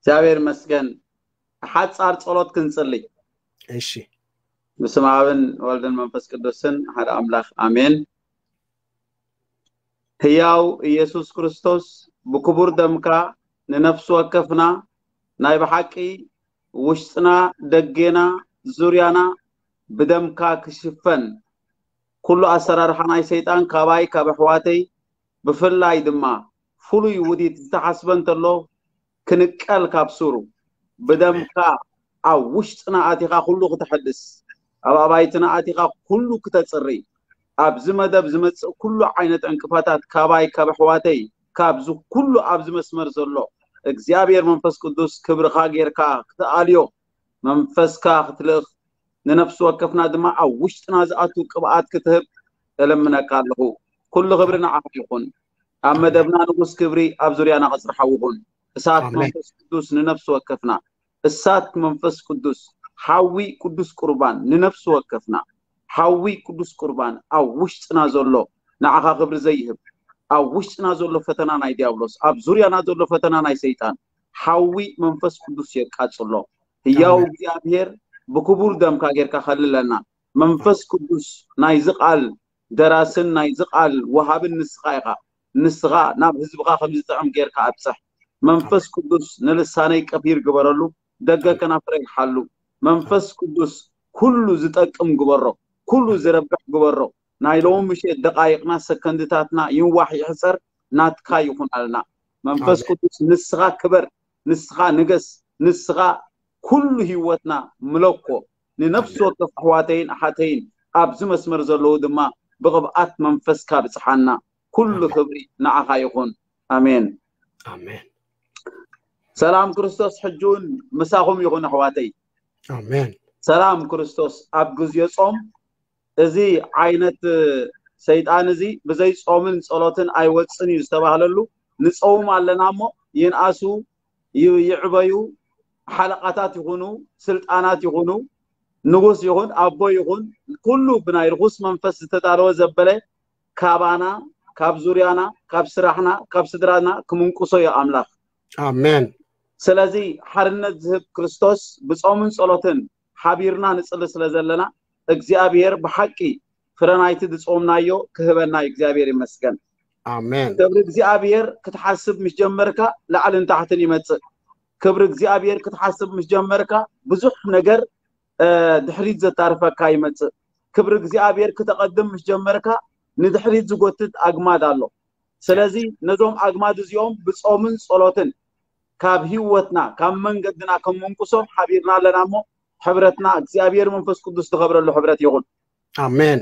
እግዚኣብሔር ይመስገን። ሓጻር ጸሎት ክንጽሊ። እሺ። ብስም ኣብን ወልድን መንፈስ ቅዱስን ሓደ ኣምላኽ ኣሜን። ህያው ኢየሱስ ክርስቶስ፣ ብክቡር ደምካ ንነፍሲ ወከፍና ናይ ብሓቂ ውሽጥና፣ ደጌና፣ ዙርያና ብደምካ ክሽፈን፣ ኩሉ ኣሰራርሓ ናይ ሰይጣን ካባይ ካብ ኣሕዋተይ ብፍላይ ድማ ፍሉይ ውዲት ዝተሓስበ እንተሎ ክንቀል ካብ ሱሩ ብደምካ ኣብ ውሽጥና ኣቲኻ ኩሉ ክተሐድስ፣ ኣብ ኣባይትና ኣቲኻ ኩሉ ክተጽሪ፣ ኣብዚ መደብ ዝመጽእ ኩሉ ዓይነት ዕንቅፋታት ካባይ ካብ ኣሕዋተይ ካብዚ ኩሉ ኣብዚ መስመር ዘሎ እግዚኣብሔር መንፈስ ቅዱስ ክብርኻ ጌርካ ክትኣልዮ መንፈስካ ክትልእኽ ንነፍሲ ወከፍና ድማ ኣብ ውሽጥና ዝኣቱ ቅብኣት ክትህብ እለምነካ ኣለኹ። ኩሉ ክብሪ ንዓኻ ይኹን። ኣብ መደብና ንጉስ ክብሪ ኣብ ዙርያና ቅጽሪ ሓዊ ይኹን። እሳት ኣሜን። መንፈስ ቅዱስ ንነፍሲ ወከፍና፣ እሳት መንፈስ ቅዱስ፣ ሓዊ ቅዱስ ቁርባን ንነፍሲ ወከፍና፣ ሓዊ ቅዱስ ቁርባን ኣብ ውሽጥና ዘሎ ንዓኻ ክብሪ ዘይህብ፣ ኣብ ውሽጥና ዘሎ ፈተና ናይ ዲያብሎስ፣ ኣብ ዙርያና ዘሎ ፈተና ናይ ሰይጣን፣ ሓዊ መንፈስ ቅዱስ የቃጽሎ። ህያው ኣሜን። እግዚኣብሔር ብክቡር ደምካ ጌርካ ከልለና። መንፈስ ቅዱስ ናይዚ ቃል ደራስን ናይዚ ቃል ወሃብን ንስኻ ኢኻ። ንስኻ ናብ ህዝብኻ ከም ዝጥዕም ጌርካ ኣብጽሕ። መንፈስ ቅዱስ ንልሳነይ ቀፊር ግበረሉ፣ ደገ ከናፍረይ ሓሉ። መንፈስ ቅዱስ ኩሉ ዝጠቅም ግበሮ፣ ኩሉ ዝረብሕ ግበሮ። ናይ ሎሚ ምሸት ደቃይቕና ሰከንድታትና ይንዋሕ ይሕጸር ናትካ ይኹን ኣልና። መንፈስ ኣሜን። ቅዱስ ንስኻ ክበር፣ ንስኻ ንገስ፣ ንስኻ ኩሉ ህይወትና ምለኮ። ንነፍሲ ወከፍ ኣሕዋተይን ኣሓተይን ኣብዚ መስመር ዘለዉ ድማ ብቕብኣት መንፈስካ ብጽሓና። ኩሉ ክብሪ ንዓኻ ይኹን። ኣሜን። ኣሜን። ሰላም ክርስቶስ ሕጂ እውን ምሳኹም ይኹን ኣሕዋተይ። ኣሜን። ሰላም ክርስቶስ ኣብ ግዜ ጾም እዚ ዓይነት ሰይጣን እዚ ብዘይ ጾምን ጸሎትን ኣይወጽን እዩ ዝተባህለሉ። ንጸውም ኣለና እሞ ይንኣሱ፣ ይ- ይዕበዩ፣ ሓለቓታት ይኹኑ፣ ስልጣናት ይኹኑ፣ ንጉስ ይኹን፣ ኣቦ ይኹን፣ ኩሉ ብናይ ርኹስ መንፈስ ዝተዳለወ ዘበለ ካባና፣ ካብ ዙርያና፣ ካብ ስራሕና፣ ካብ ስድራና ክምንቁሶ እዩ ኣምላኽ። ኣሜን። ስለዚ ሓርነት ዝህብ ክርስቶስ ብጾምን ጸሎትን ሓቢርና ንጽሊ ስለ ዘለና እግዚኣብሔር ብሓቂ ፍረ ናይቲ ዝጾምናዮ ክህበና እዩ። እግዚኣብሔር ይመስገን። ኣሜን። ክብሪ እግዚኣብሔር ክትሓስብ ምስ ጀመርካ ላዕልን ታሕትን ይመጽእ። ክብሪ እግዚኣብሔር ክትሓስብ ምስ ጀመርካ ብዙሕ ነገር እ፣ ድሕሪት ዘታርፈካ ይመጽእ። ክብሪ እግዚኣብሔር ክተቐድም ምስ ጀመርካ ንድሕሪት ዝጎትት ኣግማድ ኣሎ። ስለዚ ነዞም ኣግማድ እዚኦም ብጾምን ጸሎትን ካብ ህይወትና ካብ መንገድና ከም ምንቁሶም ሓቢርና ኣለና እሞ ሕብረትና እግዚኣብሔር መንፈስ ቅዱስ ዝኸብረሉ ሕብረት ይኹን። ኣሜን።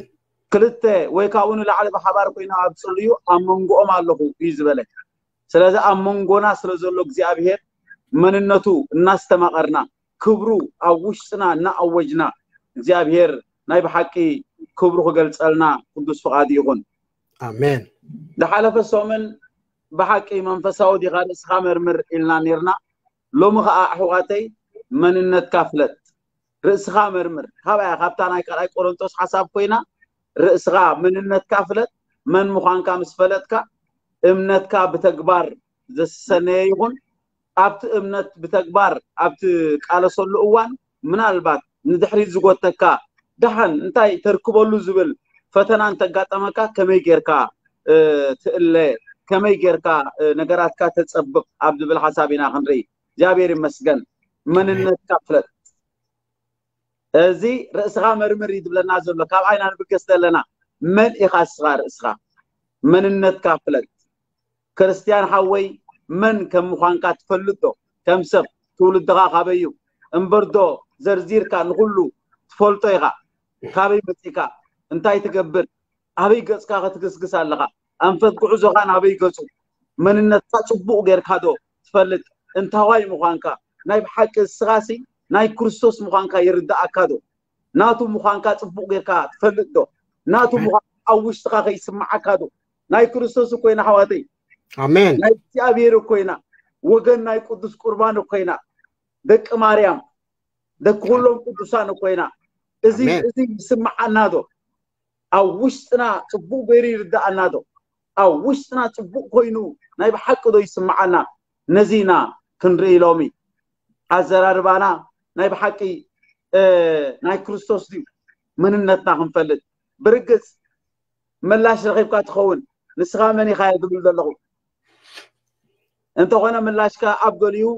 ክልተ ወይ ካብኡ ንላዕሊ ብሓባር ኮይና ኣብ ጽልዩ ኣብ መንጎኦም ኣለኹ እዩ ዝበለ። ስለዚ ኣብ መንጎና ስለ ዘሎ እግዚኣብሔር መንነቱ እናስተማቐርና ክብሩ ኣብ ውሽጥና እናኣወጅና እግዚኣብሔር ናይ ብሓቂ ክብሩ ክገልጸልና ቅዱስ ፍቓዱ ይኹን። ኣሜን። ዝሓለፈ ሰሙን ብሓቂ መንፈሳዊ ዲኻ ርእስኻ መርምር ኢልና ኔርና። ሎሚ ኸዓ ኣሕዋተይ መንነትካ ፍለጥ፣ ርእስኻ መርምር። ካባያ ካብታ ናይ ካልኣይ ቆሮንቶስ ሓሳብ ኮይና ርእስኻ መንነትካ ፍለጥ። መን ምዃንካ ምስ ፈለጥካ እምነትካ ብተግባር ዘሰነየ ይኹን ኣብቲ እምነት ብተግባር ኣብ ትቃለሰሉ እዋን ምናልባት ንድሕሪት ዝጎተካ ደሓን እንታይ ተርክበሉ ዝብል ፈተና እንተጋጠመካ ከመይ ጌርካ እ፣ ትእለ ከመይ ጌርካ እ፣ ነገራትካ ተጸብቕ ኣብ ዝብል ሓሳብ ኢና ክንርኢ። እግዚኣብሔር ይመስገን። መንነትካ ፍለጥ። እዚ ርእስኻ መርምር እዩ ዝብለና ዘሎ። ካብ ዓይና ንብገስ ዘለና መን ኢኻ እስኻ ርእስኻ መንነትካ ፍለጥ። ክርስትያን ሓወይ መን ከም ምዃንካ ትፈልጥ ዶ? ከም ሰብ ትውልድኻ ካበይ እዩ? እምበር ዶ ዘርዚርካ ንኹሉ ትፈልጦ ኢኻ? ካበይ መጺእካ? እንታይ ትገብር? ኣበይ ገጽካ ክትግስግስ ኣለኻ? ኣንፈት ጉዕዞኻ ናበይ ገጹ? መንነትካ ጽቡቕ ጌርካ ዶ ትፈልጥ? እንታዋይ ምዃንካ? ናይ ብሓቂ እስኻሲ ናይ ክርስቶስ ምዃንካ ይርድኣካ ዶ? ናቱ ምዃንካ ጽቡቕ ጌርካ ትፈልጥ ዶ? ናቱ ምዃንካ ኣብ ውሽጥኻ ከይስምዓካ ዶ? ናይ ክርስቶስ እኮ ኢና ኣሕዋተይ። ኣሜን። ናይ እግዚኣብሔር እኮ ኢና። ወገን ናይ ቅዱስ ቁርባን እኮ ኢና። ደቂ ማርያም፣ ደቂ ኩሎም ቅዱሳን እኮ ኢና። እዚ ኣሜን። እዚ ይስምዓና ዶ? ኣብ ውሽጥና ጽቡቕ ገይሩ ይርድኣና ዶ? ኣብ ውሽጥና ጽቡቕ ኮይኑ ናይ ብሓቂ ዶ ይስምዓና? ነዚ ኢና ክንርኢ ሎሚ። ኣዘራርባና ናይ ብሓቂ ናይ ክርስቶስ ድዩ? መንነትና ክንፈልጥ። ብርግጽ ምላሽ ረኺብካ ትኸውን። ንስኻ መን ኢኻ እየ ዝብል ዘለኹ። እንተኾነ ምላሽካ ኣብ ገሊኡ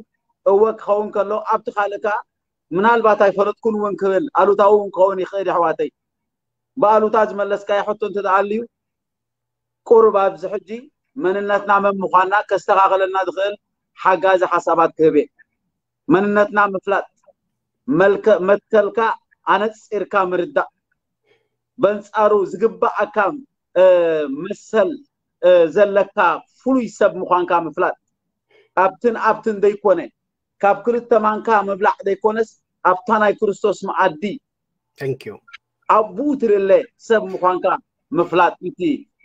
እወ ክኸውን ከሎ፣ ኣብቲ ካልእ ከኣ ምናልባት ኣይፈለጥኩን እውን ክብል ኣሉታዊ እውን ክኸውን ይኽእል። ኣሕዋተይ፣ ብኣሉታ ዝመለስካዮ ሕቶ እንተ ደኣ ኣልዩ፣ ቁሩብ ኣብዚ ሕጂ መንነትና መን ምዃንና ከስተኻኸለልና ዝኽእል ሓጋዚ ሓሳባት ክህብ እየ። መንነትና ምፍላጥ፣ መልከ መትከልካ ኣነጺርካ ምርዳእ፣ በንጻሩ ዝግባኣካ መሰል ዘለካ ፍሉይ ሰብ ምዃንካ ምፍላጥ፣ ኣብትን ኣብትን ዘይኮነ፣ ካብ ክልተ ማንካ ምብላዕ ዘይኮነስ ኣብታ ናይ ክርስቶስ መኣዲ ኣብኡ ትልለ ሰብ ምዃንካ ምፍላጥ፣ እቲ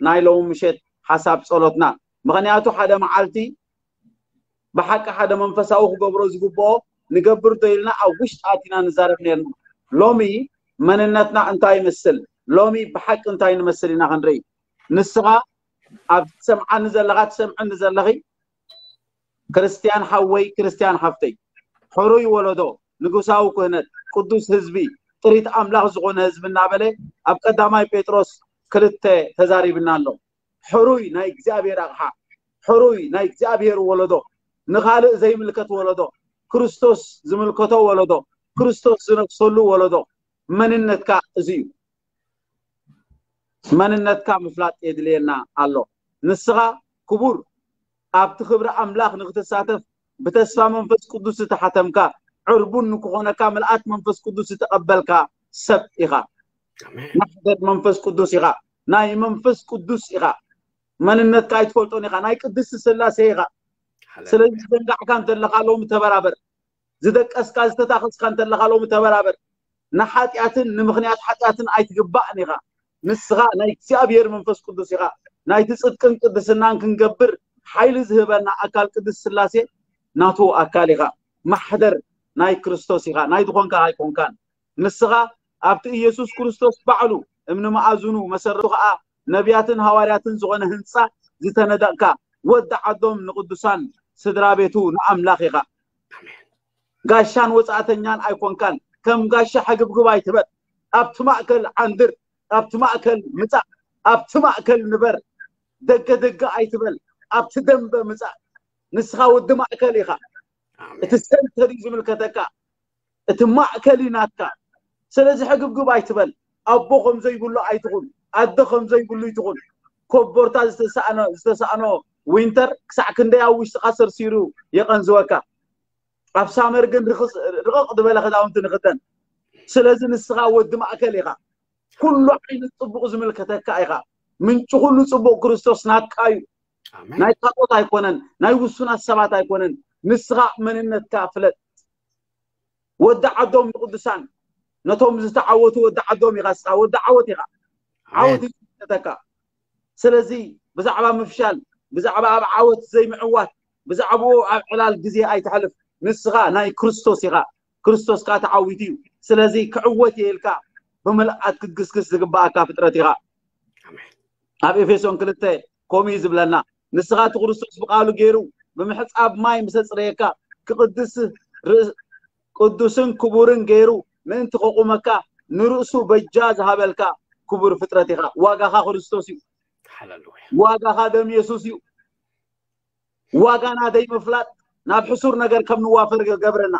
ናይ ሎሚ ምሸት ሓሳብ ጸሎትና። ምኽንያቱ ሓደ መዓልቲ ብሓቂ ሓደ መንፈሳዊ ክገብሮ ዝግብኦ ንገብር ዶ ኢልና ኣብ ውሽጢ ኣቲና ንዛረብ ነርና። ሎሚ መንነትና እንታይ ይመስል? ሎሚ ብሓቂ እንታይ ንመስል ኢና ክንርኢ። ንስኻ ኣብ ትሰምዓኒ ዘለኻ፣ ትሰምዕኒ ዘለኺ፣ ክርስትያን ሓወይ፣ ክርስትያን ሓፍተይ፣ ሕሩይ ወለዶ፣ ንጉሳዊ ክህነት፣ ቅዱስ ህዝቢ፣ ጥሪት ኣምላኽ ዝኾነ ህዝቢ እናበለ ኣብ ቀዳማይ ጴጥሮስ ክልተ ተዛሪብና ኣሎ። ሕሩይ ናይ እግዚኣብሔር ኣቕሓ፣ ሕሩይ ናይ እግዚኣብሔር ወለዶ፣ ንኻልእ ዘይምልከት ወለዶ፣ ክርስቶስ ዝምልከቶ ወለዶ፣ ክርስቶስ ዝነግሰሉ ወለዶ፣ መንነትካ እዚ እዩ። መንነትካ ምፍላጥ የድልየና ኣሎ። ንስኻ ክቡር ኣብቲ ክብሪ ኣምላኽ ንክትሳተፍ ብተስፋ መንፈስ ቅዱስ ዝተሓተምካ፣ ዕርቡን ንክኾነካ ምልኣት መንፈስ ቅዱስ ዝተቐበልካ ሰብ ኢኻ። ማሕደር መንፈስ ቅዱስ ኢኻ። ናይ መንፈስ ቅዱስ ኢኻ። መንነትካ ኣይትፈልጦን ኢኻ። ናይ ቅድስቲ ስላሴ ኢኻ። ስለዚ ዝዘንጋዕካ እንተለኻ ሎሚ ተበራበር። ዝደቀስካ ዝተታኸስካ እንተለኻ ሎሚ ተበራበር። ንሓጢኣትን ንምኽንያት ሓጢኣትን ኣይትግባእን ኢኻ። ንስኻ ናይ እግዚኣብሔር መንፈስ ቅዱስ ኢኻ። ናይቲ ጽድቅን ቅድስናን ክንገብር ሓይሊ ዝህበና ኣካል ቅድስት ስላሴ ናቱ ኣካል ኢኻ። ማሕደር ናይ ክርስቶስ ኢኻ። ናይ ዝኾንካ ኣይኮንካን። ንስኻ ኣብቲ ኢየሱስ ክርስቶስ ባዕሉ እምኒ መኣዝኑ መሰረቱ ኸኣ ነቢያትን ሃዋርያትን ዝኾነ ህንጻ ዝተነደቕካ ወዲ ዓዶም ንቅዱሳን ስድራ ቤቱ ንኣምላኽ ኢኻ። ጋሻን ወጻእተኛን ኣይኮንካን። ከም ጋሻ ሕግብግብ ኣይትበል። ኣብቲ ማእከል ዓንድር፣ ኣብቲ ማእከል ምጻእ፣ ኣብቲ ማእከል ንበር። ደገ ደገ ኣይትበል። ኣብቲ ደንበ ምጻእ። ንስኻ ወዲ ማእከል ኢኻ። እቲ ሰንተር እዩ ዝምልከተካ። እቲ ማእከል እዩ ናትካ። ስለዚ ሕግብግብ ኣይትበል። ኣቦ ከም ዘይብሉ ኣይትኹን። ኣደ ከም ዘይብሉ ኣይትኹን። ኮቦርታ ዝተሳእኖ ዝተሳእኖ ዊንተር ክሳዕ ክንደይ ኣብ ውሽጥኻ ሰርሲሩ የቐንዝወካ። ኣብ ሳመር ግን ርቕቕ ዝበለ ክዳውንቲ ንኽደን። ስለዚ ንስኻ ወዲ ማእከል ኢኻ። ኩሉ ዓይነት ጽቡቕ ዝምልከተካ ኢኻ። ምንጪ ኩሉ ጽቡቕ ክርስቶስ ናትካ እዩ። ናይ ካልኦት ኣይኮነን፣ ናይ ውሱናት ሰባት ኣይኮነን። ንስኻ መንነትካ ፍለጥ። ወዲ ዓዶም ንቅዱሳን፣ ነቶም ዝተዓወቱ ወዲ ዓዶም ኢኻ። ንስኻ ወዲ ዓወት ኢኻ። ዓወት እዩ ዝምልከተካ። ስለዚ ብዛዕባ ምፍሻል፣ ብዛዕባ ኣብ ዓወት ዘይምዕዋት፣ ብዛዕባኡ ኣብ ዕላል ግዜ ኣይተሕልፍ። ንስኻ ናይ ክርስቶስ ኢኻ። ክርስቶስ ከኣ ተዓዊቱ እዩ። ስለዚ ክዕወት እየ ኢልካ ብምልኣት ክትግስግስ ዝግባኣካ ፍጥረት ኢኻ። ኣብ ኤፌሶን ክልተ ከምኡ እዩ ዝብለና። ንስኻ እቲ ክርስቶስ ብቃሉ ገይሩ ብምሕጻብ ማይ ምስ ኣጽረየካ፣ ክቕድስ ርእስ-፣ ቅዱስን ክቡርን ገይሩ ምእንቲ ከቑመካ፣ ንርእሱ በጃ ዝሃበልካ ክቡር ፍጥረት ኢኻ። ዋጋኻ ክርስቶስ እዩ። ዋጋኻ ደም የሱስ እዩ። ዋጋና ደይ ምፍላጥ ናብ ሕሱር ነገር ከም ንዋፈር ገብረና።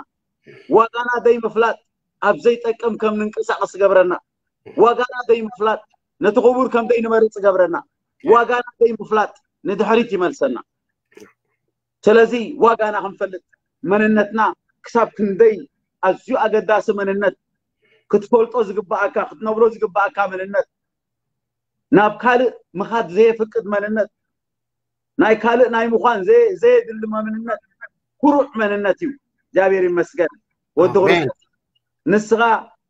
ዋጋና ደይ ምፍላጥ ኣብ ዘይጠቅም ከም ንንቀሳቐስ ገብረና። ዋጋና ደይ ምፍላጥ ነቲ ክቡር ከም ደይ ንመርጽ ገብረና። ዋጋና ደይ ምፍላጥ ንድሕሪት ይመልሰና። ስለዚ ዋጋና ክንፈልጥ፣ መንነትና ክሳብ ክንደይ ኣዝዩ ኣገዳሲ መንነት፣ ክትፈልጦ ዝግባኣካ፣ ክትነብሮ ዝግባኣካ መንነት፣ ናብ ካልእ ምኻድ ዘየፍቅድ መንነት፣ ናይ ካልእ ናይ ምዃን ዘየ-፣ ዘየድሊ መንነት፣ ኩሩዕ መንነት እዩ። እግዚኣብሔር ይመስገን። ወዲ ኣሜን። ክርስቶስ፣ ንስኻ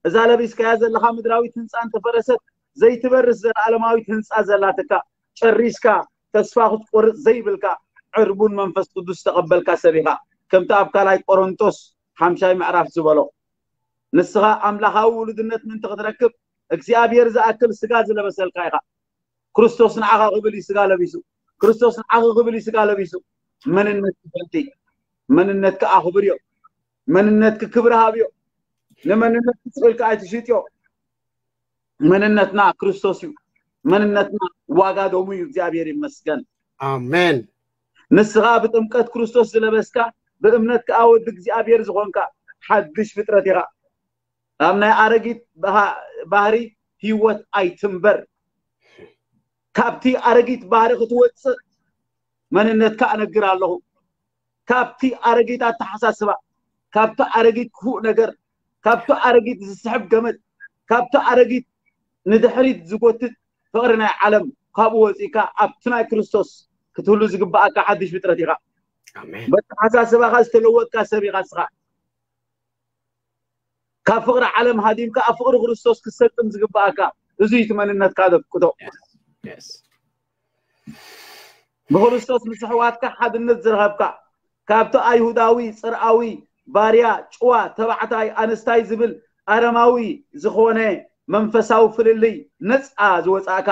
እዛ ለቢስካያ ዘለኻ ምድራዊት ህንጻ እንተፈረሰት፣ ዘይትበርስ ዘለዓለማዊት ህንጻ ዘላትካ፣ ጨሪስካ ተስፋ ክትቆርጽ ዘይብልካ፣ ዕርቡን መንፈስ ቅዱስ ዝተቐበልካ ሰብ ኢኻ። ከምቲ ኣብ ካልኣይ ቆሮንቶስ ሓምሻይ ምዕራፍ ዝበሎ፣ ንስኻ ኣምላኻዊ ውሉድነት ምእንቲ ክትረክብ፣ እግዚኣብሔር ዝኣክል ስጋ ዝለበሰልካ ኢኻ። ክርስቶስ ንዓኻ ክብል እዩ ስጋ ለቢሱ። ክርስቶስ ንዓኺ ክብል እዩ ስጋ ለቢሱ። መንነት ትፈልጢ፣ መንነትካ ኣኽብርዮ። መንነትኪ ክብሪ ሃብዮ። ንመንነትኪ ስቕ ኢልካ ኣይትሽጥዮ። መንነትና ክርስቶስ እዩ። መንነትና ዋጋ ደሙ እዩ። እግዚኣብሔር ይመስገን። ኣሜን። ንስኻ ብጥምቀት ክርስቶስ ዝለበስካ፣ ብእምነት ከኣ ወዲ እግዚኣብሔር ዝኾንካ ሓድሽ ፍጥረት ኢኻ። ኣብ ናይ ኣረጊት ባህሪ ህይወት ኣይትንበር። ካብቲ ኣረጊት ባህሪ ክትወፅእ መንነትካ እነግር ኣለኹ። ካብቲ ኣረጊት ኣተሓሳስባ፣ ካብቲ ኣረጊት ክፉእ ነገር፣ ካብቲ ኣረጊት ዝስሕብ ገመድ፣ ካብቲ ኣረጊት ንድሕሪት ዝጎትት ፍቕሪ ናይ ዓለም፣ ካብኡ ወፂእካ ኣብቲ ናይ ክርስቶስ ክትህሉ ዝግባኣካ ሓድሽ ፍጥረት ኢኻ። በተሓሳስባኻ ዝተለወጥካ ሰብ ኢኻ እስኻ። ካብ ፍቕሪ ዓለም ሃዲምካ ኣብ ፍቕሪ ክርስቶስ ክትሰልጥን ዝግባኣካ፣ እዚ እቲ መንነትካ ዘፍቅዶ። ብክርስቶስ ምስ ኣሕዋትካ ሓድነት ዝረኸብካ፣ ካብቲ ኣይሁዳዊ፣ ፅርኣዊ፣ ባርያ፣ ጭዋ፣ ተባዕታይ፣ ኣንስታይ ዝብል ኣረማዊ ዝኾነ መንፈሳዊ ፍልልይ ነፃ ዝወፃእካ፣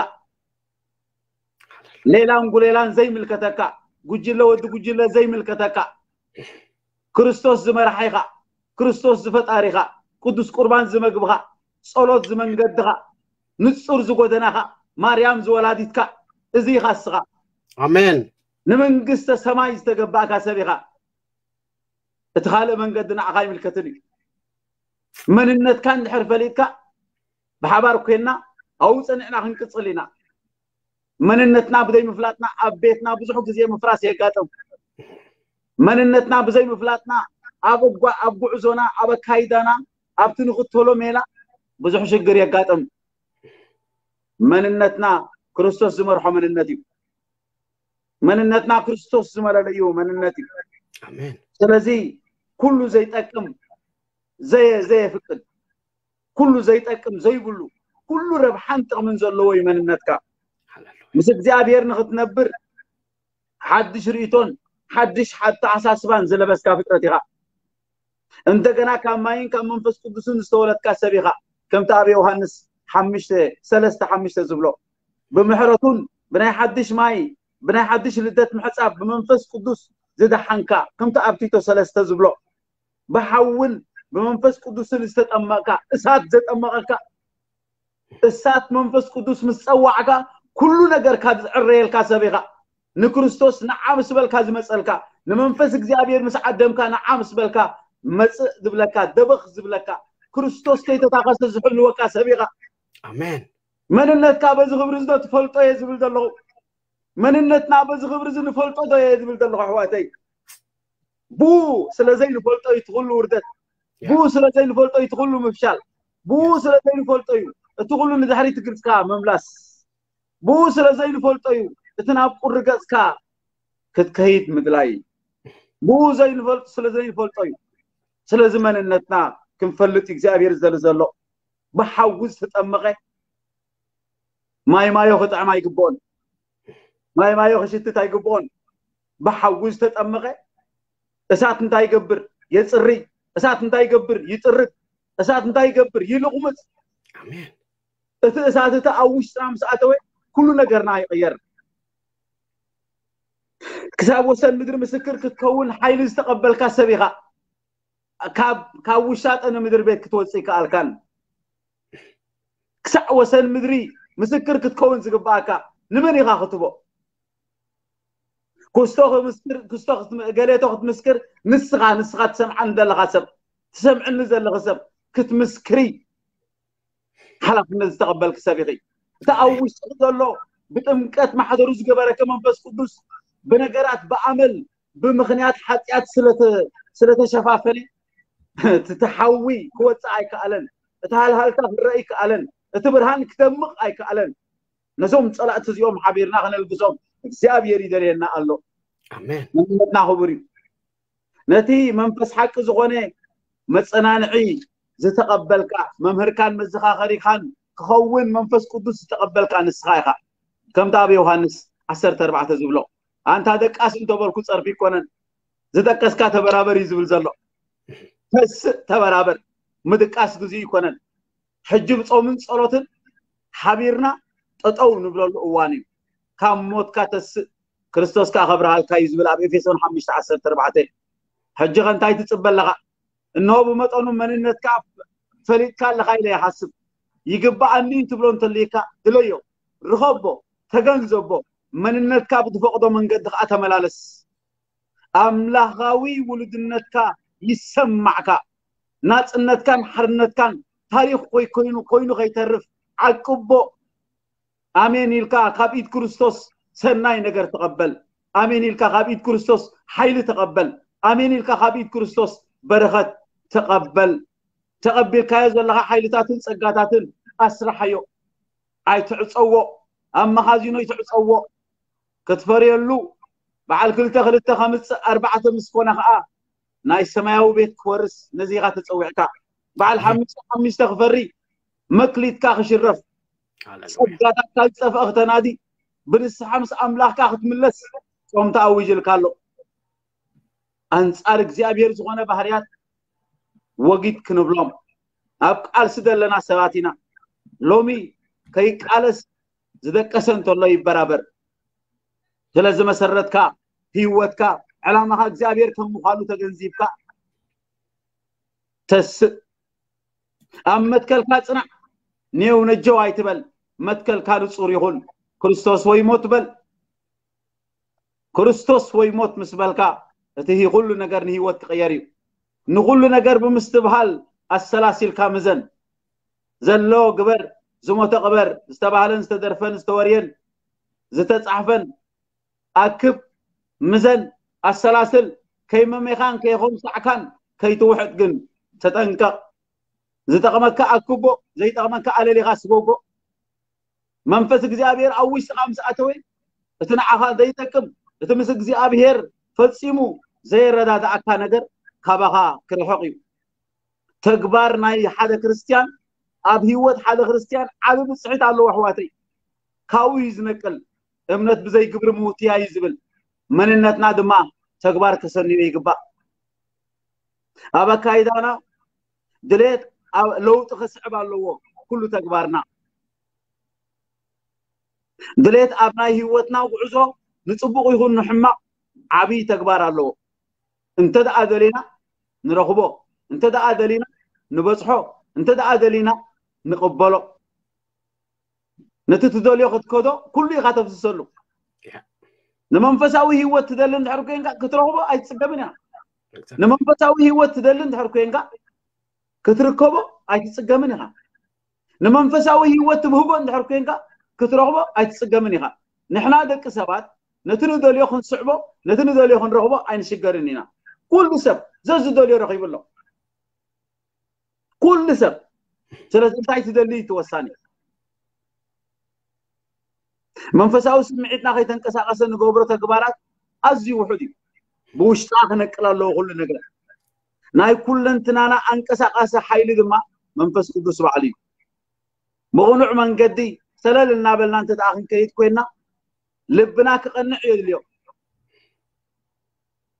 ሌላን ጉሌላን ዘይምልከተካ፣ ጉጅለ ወዲ ጉጅለ ዘይምልከተካ፣ ክርስቶስ ዝመርሓይኻ፣ ክርስቶስ ዝፈጣሪኻ፣ ቅዱስ ቁርባን ዝመግብኻ፣ ጸሎት ዝመንገድኻ፣ ንጹር ዝጎደናኻ፣ ማርያም ዝወላዲትካ፣ እዚ ኢኻ እስኻ። ኣሜን። ንመንግስተ ሰማይ ዝተገባእካ ሰብ ኢኻ። እቲ ካልእ መንገዲ ንዓኻ ኣይምልከትን እዩ። መንነትካ እንድሕር ፈሊጥካ፣ ብሓባር ኮይንና ኣብኡ ጸኒዕና ክንቅጽል ኢና። መንነትና ብዘይ ምፍላጥና ኣብ ቤትና ብዙሕ ግዜ ምፍራስ የጋጥም። መንነትና ብዘይ ምፍላጥና ኣብ እጓ-፣ ኣብ ጉዕዞና፣ ኣብ ኣካይዳና፣ ኣብቲ ንኽተሎ ሜላ ብዙሕ ሽግር የጋጥም። መንነትና ክርስቶስ ዝመርሖ መንነት እዩ። መንነትና ክርስቶስ ዝመለለዩ መንነት እዩ። ኣሜን። ስለዚ ኩሉ ዘይጠቅም ዘየ-፣ ዘየፍቅድ፣ ኩሉ ዘይጠቅም ዘይብሉ፣ ኩሉ ረብሓን ጥቕምን ዘለዎ እዩ መንነትካ። ሃሌሉያ። ምስ እግዚኣብሔር ንኽትነብር ሓድሽ ርእይቶን ሓድሽ ኣተሓሳስባን ዝለበስካ ፍጥረት ኢኻ። እንደገና ካብ ማይን ካብ መንፈስ ቅዱስን ዝተወለድካ ሰብ ኢኻ። ከምቲ ኣብ ዮሃንስ ሓሙሽተ፣ ሰለስተ ሓሙሽተ ዝብሎ፣ ብምሕረቱን ብናይ ሓድሽ ማይ፣ ብናይ ሓድሽ ልደት ምሕጻብ ብመንፈስ ቅዱስ ዝደሓንካ፣ ከምቲ ኣብ ቲቶ ሰለስተ ዝብሎ፣ ብሓውን ብመንፈስ ቅዱስን ዝተጠመቕካ፣ እሳት ዘጠመቐካ፣ እሳት መንፈስ ቅዱስ ምስ ጸዋዕካ፣ ኩሉ ነገርካ ዝዕረየልካ ሰብ ኢኻ። ንክርስቶስ ንዓ ምስ በልካ ዝመጸልካ፣ ንመንፈስ እግዚኣብሔር ምስ ዓደምካ፣ ንዓ ምስ በልካ መጽእ ዝብለካ፣ ደበኽ ዝብለካ፣ ክርስቶስ ከይተታኸሰ ዝሕልወካ ሰብ ኢኻ። ኣሜን። መንነትካ በዚ ክብሪ እዚ ዶ ትፈልጦ እየ ዝብል ዘለኹ። መንነትና በዚ ክብሪ እዚ ንፈልጦ ዶ እየ ዝብል ዘለኹ ኣሕዋተይ። ብኡ ስለ ዘይንፈልጦ እዩ እቲ ኩሉ ውርደት። ብኡ ስለ ዘይንፈልጦ እዩ እቲ ኩሉ ምፍሻል። ብኡ ስለ ዘይንፈልጦ እዩ እቲ ኩሉ ንድሕሪት እግርካ ምምላስ። ብኡ ስለ ዘይንፈልጦ እዩ እቲ ናብ ቁሪ ገጽካ ክትከይድ ምድላይ። ብኡ ዘይንፈልጦ፣ ስለ ዘይንፈልጦ እዩ። ስለዚ መንነትና ክንፈልጥ እግዚኣብሔር ዝደሊ ዘሎ። ብሓዊ ዝተጠመቐ ማይ ማዮ ክጥዕም ኣይግብኦን። ማይ ማዮ ክሽትት ኣይግብኦን። ብሓዊ ዝተጠመቐ እሳት እንታይ ይገብር? የጽሪ። እሳት እንታይ ይገብር? ይጥርግ። እሳት እንታይ ይገብር? ይልቑምጽ። ኣሜን። እቲ እሳት እቲ ኣብ ውሽጥና ምስ ኣተወ ኩሉ ነገርና ይቕየር። ክሳብ ወሰን ምድሪ ምስክር ክትከውን ሓይሊ ዝተቐበልካ ሰብ ኢኻ። ካብ፣ ካብ ውሻጠ ንምድሪ ቤት ክትወፅእ ይከኣልካን። ክሳዕ ወሰን ምድሪ ምስክር ክትከውን ዝግባኣካ ንመን ኢኻ ክትቦ? ክስቶ ክምስክር፣ ክስቶ ክትም-፣ ገሌቶ ክትምስክር ንስኻ፣ ንስኻ ትሰምዓን ዘለኻ ሰብ፣ ትሰምዕኒ ዘለኺ ሰብ ክትምስክሪ ሓላፍነት ዝተቐበልኪ ሰብ ኢኺ። እቲ ኣብ ውሽጥኺ ዘሎ ብጥምቀት ማሕደሩ ዝገበረኪ መንፈስ ቅዱስ ብነገራት ብኣመል ብምኽንያት ሓጢኣት ስለተ-፣ ስለተሸፋፈነ እቲ ሓዊ ክወፅእ ኣይከኣለን። እቲ ሃልሃልታ ክረአ ኣይከኣለን። እቲ ብርሃን ክደምቕ ኣይከኣለን። ነዞም ፀላእቲ እዚኦም ሓቢርና ከነልግሶም እግዚኣብሔር ይደልየና ኣሎ። ኣሜን። መንነትና ክቡር እዩ። ነቲ መንፈስ ሓቂ ዝኾነ መጸናንዒ ዝተቐበልካ፣ መምህርካን መዘኻኸሪኻን ክኸውን መንፈስ ቅዱስ ዝተቐበልካ ንስኻ ኢኻ። ከምቲ ኣብ ዮሃንስ ዓሰርተ ኣርባዕተ ዝብሎ፣ ኣንታ ደቃስ እንተበልኩ ጸርፊ ይኮነን፣ ዝደቀስካ ተበራበር እዩ ዝብል ዘሎ። ተስእ፣ ተበራበር፣ ምድቃስ ግዜ ይኮነን። ሕጂ ብጾምን ጸሎትን ሓቢርና ጠጠው ንብለሉ እዋን እዩ። ካብ ሞትካ ተስእ፣ ክርስቶስ ከኣ ከብርሃልካ እዩ ዝብል ኣብ ኤፌሶን ሓሙሽተ ዓሰርተ ኣርባዕተ። ሕጂ ከ እንታይ ትጽበ ኣለኻ? እንሆ ብመጠኑ መንነትካ ፈሊጥካ ኣለኻ ኢለ ይሓስብ። ይግባኣኒ ትብሎ እንተልይካ ድለዮ፣ ርኸቦ፣ ተገንዘቦ። መንነትካ ብትፈቕዶ መንገዲ ከዓ ተመላለስ። ኣምላኻዊ ውሉድነትካ ይሰማዕካ። ናጽነትካን ሓርነትካን ታሪኽ ኮይኮይኑ ኮይኑ ከይተርፍ ዓቅቦ። ኣሜን ኢልካ ካብ ኢድ ክርስቶስ ሰናይ ነገር ተቐበል። ኣሜን ኢልካ ካብ ኢድ ክርስቶስ ሓይሊ ተቐበል። ኣሜን ኢልካ ካብ ኢድ ክርስቶስ በረኸት ተቐበል። ተቐቢልካዮ ዘለኻ ሓይልታትን ጸጋታትን ኣስርሓዮ። ኣይትዕጸዎ። ኣብ መኻዚኖ ኣይትዕጸዎ። ክትፈርየሉ በዓል ክልተ ክልተ ከምጽእ ኣርባዕተ ምስ ኮነ ኸኣ ናይ ሰማያዊ ቤት ክወርስ ነዚኻ ተጸዊዕካ። በዓል ሓሙሽተ ሓሙሽተ ክፈሪ መክሊትካ ክሽረፍ። ሃሌሉያ። ጸጋታትካ ዝጠፍአ ክተናዲ ብንስሓ ምስ ኣምላኽካ ክትምለስ ጾም ተኣዊጅልካ ኣሎ። ኣንጻር እግዚኣብሔር ዝኾነ ባህርያት ወጊድ ክንብሎም ኣብ ቃልሲ ዘለና ሰባት ኢና። ሎሚ ከይቃለስ ዝደቀሰ እንተሎ ይበራበር። ስለ ዝመሰረትካ ህይወትካ ዕላማኻ እግዚኣብሔር ከም ምዃኑ ተገንዚብካ ተስእ። ኣብ መትከልካ ጽናዕ። ኔው ነጀው ኣይትበል። መትከልካ ንጹር ይኹን። ክርስቶስ ወይ ሞት በል። ክርስቶስ ወይ ሞት ምስ በልካ እቲ ኩሉ ነገር ንህይወት ክቕየር እዩ። ንኹሉ ነገር ብምስትብሃል ኣሰላሲልካ ምዘን። ዘሎ ግበር፣ ዝሞተ ቅበር፣ ዝተባህለን ዝተደርፈን ዝተወርየን ዝተጻሕፈን ኣክብ፣ ምዘን፣ ኣሰላስል። ከይመሜኻን ከይኾምሳዕካን ከይትውሕጥ ግን ተጠንቀቕ። ዝጠቕመካ ኣክቦ፣ ዘይጠቕመካ ኣለሊኻ ስጎጎ። መንፈስ እግዚኣብሔር ኣብ ውሽጥኻ ምስ ኣተወ እቲ ንዓኻ ዘይጠቅም፣ እቲ ምስ እግዚኣብሔር ፈጺሙ ዘየረዳድኣካ ነገር ካባኻ ክርሕቕ እዩ። ተግባር ናይ ሓደ ክርስትያን ኣብ ህይወት ሓደ ክርስትያን ዓቢ ብጽሒት ኣለዎ ኣሕዋተይ። ካብኡ እዩ ዝነቅል። እምነት ብዘይ ግብሪ ምውትያ እዩ ዝብል መንነትና ድማ ተግባር ከሰንዮ ይግባእ። ኣብ ኣካይዳና ድሌት ኣብ ለውጢ ከስዕብ ኣለዎ ኩሉ ተግባርና። ድሌት ኣብ ናይ ህይወትና ጉዕዞ ንጽቡቕ ይኹን ንሕማቕ ዓብዪ ተግባር ኣለዎ። እንተ ደኣ ደሊና ንረኽቦ፣ እንተ ደኣ ደሊና ንበጽሖ፣ እንተ ደኣ ደሊና ንቕበሎ። ነቲ ትደልዮ ክትከዶ ኩሉ ኢኻ ተፍስሰሉ። ንመንፈሳዊ ህይወት ትደሊ እንድሕር ኮይንካ ክትረኽቦ ኣይትጽገምን ኢኻ። ንመንፈሳዊ ህይወት ትደሊ እንድሕር ኮይንካ ክትርከቦ ኣይትጽገምን ኢኻ። ንመንፈሳዊ ህይወት ትብህጎ እንድሕር ኮይንካ ክትረኽቦ ኣይትጽገምን ኢኻ። ንሕና ደቂ ሰባት ነቲ ንደልዮ ክንስዕቦ፣ ነቲ ንደልዮ ክንረኽቦ ኣይንሽገርን ኢና። ኩሉ ሰብ ዘዝደልዮ ረኺቡ ኣሎ። ኩሉ ሰብ። ስለዚ እንታይ ትደሊ እዩ እቲ ወሳኒ። መንፈሳዊ ስምዒትና ከይተንቀሳቐሰ ንገብሮ ተግባራት ኣዝዩ ውሑድ እዩ። ብውሽጥና ክነቅል ኣለዎ ኩሉ ነገር። ናይ ኩለንትናና ኣንቀሳቓሲ ሓይሊ ድማ መንፈስ ቅዱስ ባዕሉ እዩ። ብቕኑዕ መንገዲ ሰለል እናበልና እንተ ደኣ ክንከይድ ኮይንና ልብና ክቐንዕ የድልዮ።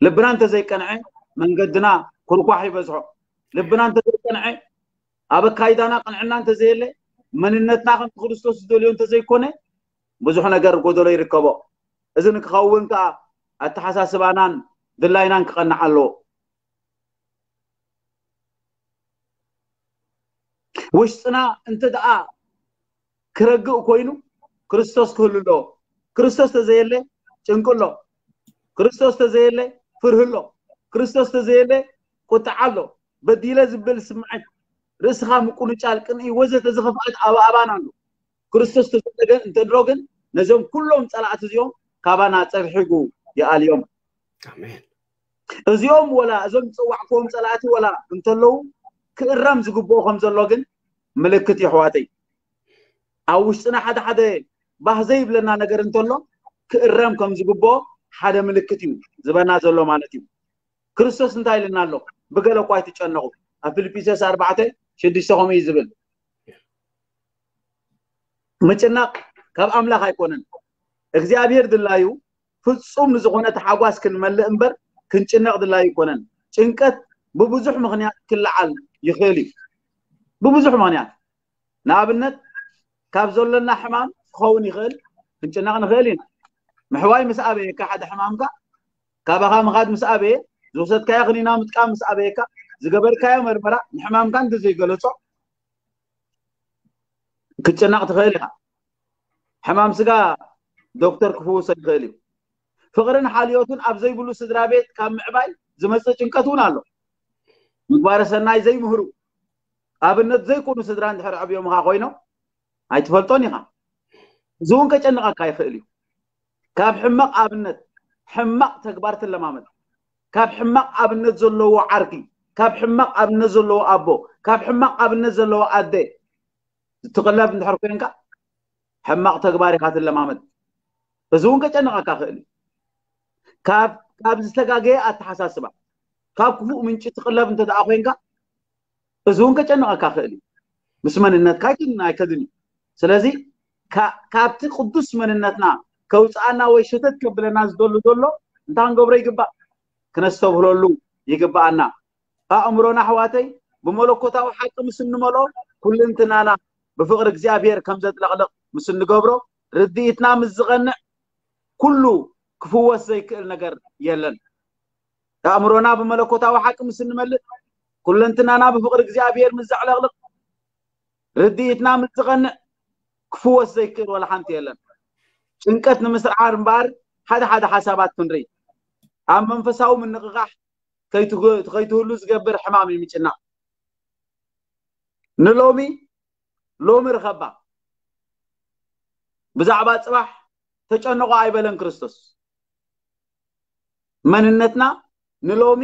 ልብና እንተዘይቀንዐ መንገድና ኩርኳሕ ይበዝሖ። ልብና እንተዘይቀንዐ ኣብ ኣካይዳና ቅንዕና እንተዘየለ መንነትና ከምቲ ክርስቶስ ዝደልዮ እንተዘይኮነ ብዙሕ ነገር ጎደሎ ይርከቦ። እዚ ንክኸውን ከዓ ኣተሓሳስባናን ድላይናን ክቐንዕ ኣለዎ። ውሽጥና እንተ ደኣ ክረግእ ኮይኑ ክርስቶስ ክህሉ ኣለዎ። ክርስቶስ ተዘየለ ጭንቂ ኣሎ። ክርስቶስ ተዘየለ ፍርሂ ኣሎ። ክርስቶስ ተዘየለ ቁጥዓ ኣሎ። በዲለ ዝብል ስምዓት፣ ርእስኻ ምቁንጫል፣ ቅንኢ ወዘተ ዝኸፍኣት ኣብ ኣባና ኣሎ። ክርስቶስ ተዘየለ ግን እንተድሮ ግን ነዞም ኩሎም ጸላእቲ እዚኦም ካባና ጸብሒጉ ይኣልዮም። ኣሜን። እዚኦም ወላ እዞም ዝጸዋዕክዎም ጸላእቲ ወላ እንተለዉ ክእረም ዝግብኦ ከም ዘሎ ግን ምልክት እዩ ኣሕዋተይ። ኣብ ውሽጥና ሓደ ሓደ ባህ ዘይብለና ነገር እንተሎ ክእረም ከም ዝግብኦ ሓደ ምልክት እዩ ዝበና ዘሎ ማለት እዩ። ክርስቶስ እንታይ ኢልና ኣሎ? ብገለ እኳ ኣይትጨነቑ። ኣብ ፊልጵስዩስ ኣርባዕተ ሽዱሽተ ከምኡ እዩ ዝብል። ምጭናቕ ካብ ኣምላኽ ኣይኮነን። እግዚኣብሔር ድላዩ ፍጹም ንዝኾነ ተሓጓስ ክንመልእ እምበር ክንጭነቕ ድላዩ ኣይኮነን። ጭንቀት ብብዙሕ ምኽንያት ክለዓል ይኽእል እዩ። ብብዙሕ ምኽንያት። ንኣብነት ካብ ዘሎና ሕማም ክኸውን ይኽእል፣ ክንጭነቕ ንኽእል ኢና። ምሕዋይ ምስ ኣበየካ ሓደ ሕማምካ፣ ካባኻ ምኻድ ምስ ኣበየ፣ ዝወሰድካዮ ክኒና ምጥቃም ምስ ኣበየካ፣ ዝገበርካዮ መርመራ ንሕማምካ እንተዘይገለጾ ክትጭነቕ ትኽእል ኢኻ። ሕማም ስጋ ዶክተር ክፍውሶ ይኽእል እዩ። ፍቕርን ሓልዮትን ኣብ ዘይብሉ ስድራ ቤት ካብ ምዕባይ ዝመጽእ ጭንቀት እውን ኣሎ። ምግባረ ሰናይ ዘይምህሩ ኣብነት ዘይኮኑ ስድራ እንድሕር ኣዕብዮምኻ ኮይኖም ኣይትፈልጦን ኢኻ። እዚ እውን ከጨንቐካ ይኽእል እዩ። ካብ ሕማቕ ኣብነት ሕማቕ ተግባር ትለማመድ። ካብ ሕማቕ ኣብነት ዘለዎ ዓርኪ፣ ካብ ሕማቕ ኣብነት ዘለዎ ኣቦ፣ ካብ ሕማቕ ኣብነት ዘለዎ ኣደ ትቕለብ እንድሕር ኮንካ ሕማቕ ተግባር ኢኻ ትለማመድ። እዚ እውን ከጨንቐካ ክእል እዩ። ካብ ካብ ዝተጋገየ ኣተሓሳስባ ካብ ክፉእ ምንጪ ትቕለብ እንተ ደኣ ኮንካ እዚ እውን ከጨንቐካ ክእል እዩ። ምስ መንነትካ ኣይክን ኣይከድን እዩ። ስለዚ ካ- ካብቲ ቅዱስ መንነትና ከውፅኣና ወይ ሸተት ከብለና ዝደሉ ዘሎ እንታይ ክንገብሮ ይግባእ? ክነስተብህለሉ ይግባኣና። ኣእምሮና ኣሕዋተይ ብመለኮታዊ ሓቂ ምስ እንመልኦ ኩልንትናና ብፍቕሪ እግዚኣብሔር ከም ዘጥለቕልቕ ምስ እንገብሮ ርድኢትና ምስ ዝቐንዕ ኩሉ ክፍወስ ዘይክእል ነገር የለን። ኣእምሮና ብመለኮታዊ ሓቂ ምስ እንመልእ ኩለንትናና ብፍቕሪ እግዚኣብሔር ምስ ዘዕለቕልቕ ርድኢትና ምስ ዝቐንዕ ክፍወስ ዘይክእል ወላ ሓንቲ የለን። ጭንቀት ንምስዓር እምበኣር ሓደ ሓደ ሓሳባት ክንርኢ። ኣብ መንፈሳዊ ምንቕቓሕ ከይትህሉ ዝገብር ሕማም እዩ ምጭናቕ። ንሎሚ ሎሚ ርኸባ፣ ብዛዕባ ጽባሕ ተጨነቑ ኣይበለን ክርስቶስ። መንነትና ንሎሚ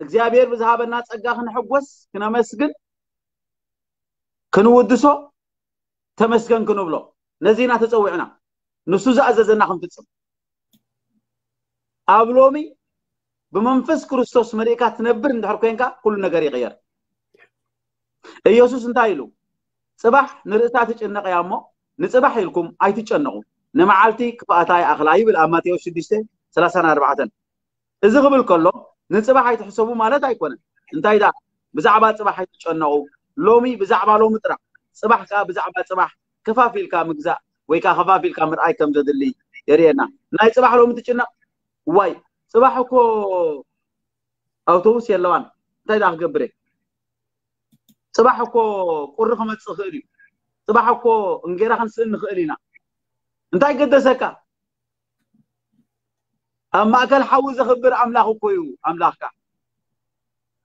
እግዚኣብሔር ብዝሃበና ጸጋ ክንሕጎስ፣ ክነመስግን፣ ክንውድሶ ተመስገን ክንብሎ ነዚና ተጸዊዕና። ንሱ ዝኣዘዘና ክንፍጽም ኣብ ሎሚ ብመንፈስ ክርስቶስ መሊእካ ትነብር እንድሕር ኮንካ ኩሉ ነገር ይቕየር። ኢየሱስ እንታይ ኢሉ? ጽባሕ ንርእሳ ትጭነቕ እያ እሞ ንጽባሕ ኢልኩም ኣይትጨነቑ፣ ንመዓልቲ ክፍኣታ ይኣኽላ ይብል ኣብ ማቴዎስ ሽዱሽተ ሰላሳን ኣርባዕተን። እዚ ክብል ከሎ ንጽባሕ ኣይትሕሰቡ ማለት ኣይኮነን። እንታይ ደኣ ብዛዕባ ጽባሕ ኣይትጨነቑ፣ ሎሚ ብዛዕባ ሎሚ ጥራሕ፣ ጽባሕ ከኣ ብዛዕባ ጽባሕ ከፋፊልካ ምግዛእ ወይ ከኣ ከፋፊልካ ምርኣይ ከም ዘድሊ የርእየና። ናይ ጽባሕ ሎሚ ትጭነቕ? ዋይ ጽባሕ እኮ ኣውቶቡስ የለዋን፣ እንታይ ደኣ ክገብር እየ? ጽባሕ እኮ ቁሪ ክመጽእ ይኽእል እዩ። ጽባሕ እኮ እንጌራ ክንስእን ንኽእል ኢና። እንታይ ገደሰካ? ኣብ ማእከል ሓዊ ዘኽብር ኣምላኽ እኮ እዩ ኣምላኽካ።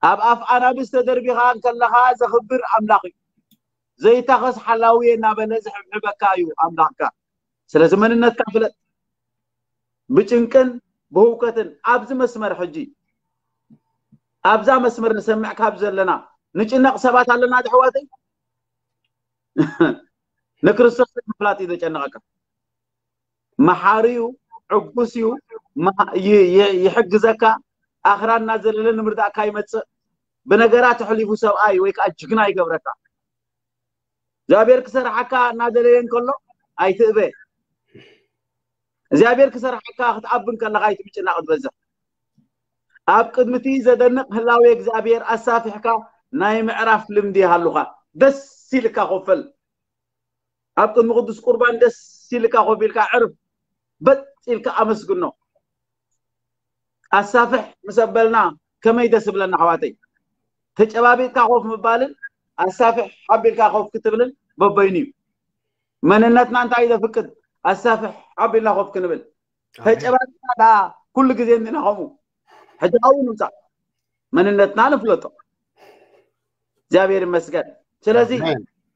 ኣብ ኣፍ ኣናብስ ተደርቢኻ እንከለኻ ዘኽብር ኣምላኽ እዩ። ዘይታኸስ ሓላዊ እናበለ ዝሕብሕበካ እዩ ኣምላኽካ። ስለዚ መንነትካ ፍለጥ። ብጭንቅን ብህውከትን ኣብዚ መስመር ሕጂ ኣብዛ መስመር ንሰምዕ ካብ ዘለና ንጭነቕ ሰባት ኣለና ኣሕዋተይ። ንክርስቶስ ምፍላጥ እዩ ዘጨንቐካ። መሓሪ እዩ፣ ዕጉስ እዩ፣ ይሕግዘካ። ኣኽራ እናዘለለ ንምርዳእካ ይመፅእ። ብነገራት ኣሕሊፉ ሰብኣይ ወይ ከዓ ጅግና ይገብረካ። እግዚኣብሔር ክሰርሓካ እናደለየ እንከሎ ኣይትእበ። እግዚኣብሔር ክሰርሓካ ክትኣብ እንከለካ ኣይትምጭና ክትበዝሕ። ኣብ ቅድሚ እቲ ዘደንቕ ህላዌ እግዚኣብሔር ኣሳፊሕካ ናይ ምዕራፍ ልምዲ ይሃሉኻ። ደስ ኢልካ ኮፈል። ኣብ ቅድሚ ቅዱስ ቁርባን ደስ ኢልካ ኮፍ ኢልካ ዕርፍ በጥ ኢልካ ኣመስግኖ። ኣሳፍሕ ምስ ኣበልና ከመይ ደስ ብለና ኣሕዋተይ። ተጨባቢጥካ ኮፍ ምባልን ኣሳፍሕ ኣቢልካ ኮፍ ክትብልን በበይኑ እዩ። መንነትና እንታይ ዘፍቅድ ኣሳፍሕ ኣቢልና ኮፍ ክንብል። ተጨባቢጥና ደኣ ኩሉ ግዜ እንዲና ከምኡ። ሕጂ ካብኡ ንምጻእ መንነትና ንፍለጦ። እግዚኣብሔር ይመስገን። ስለዚ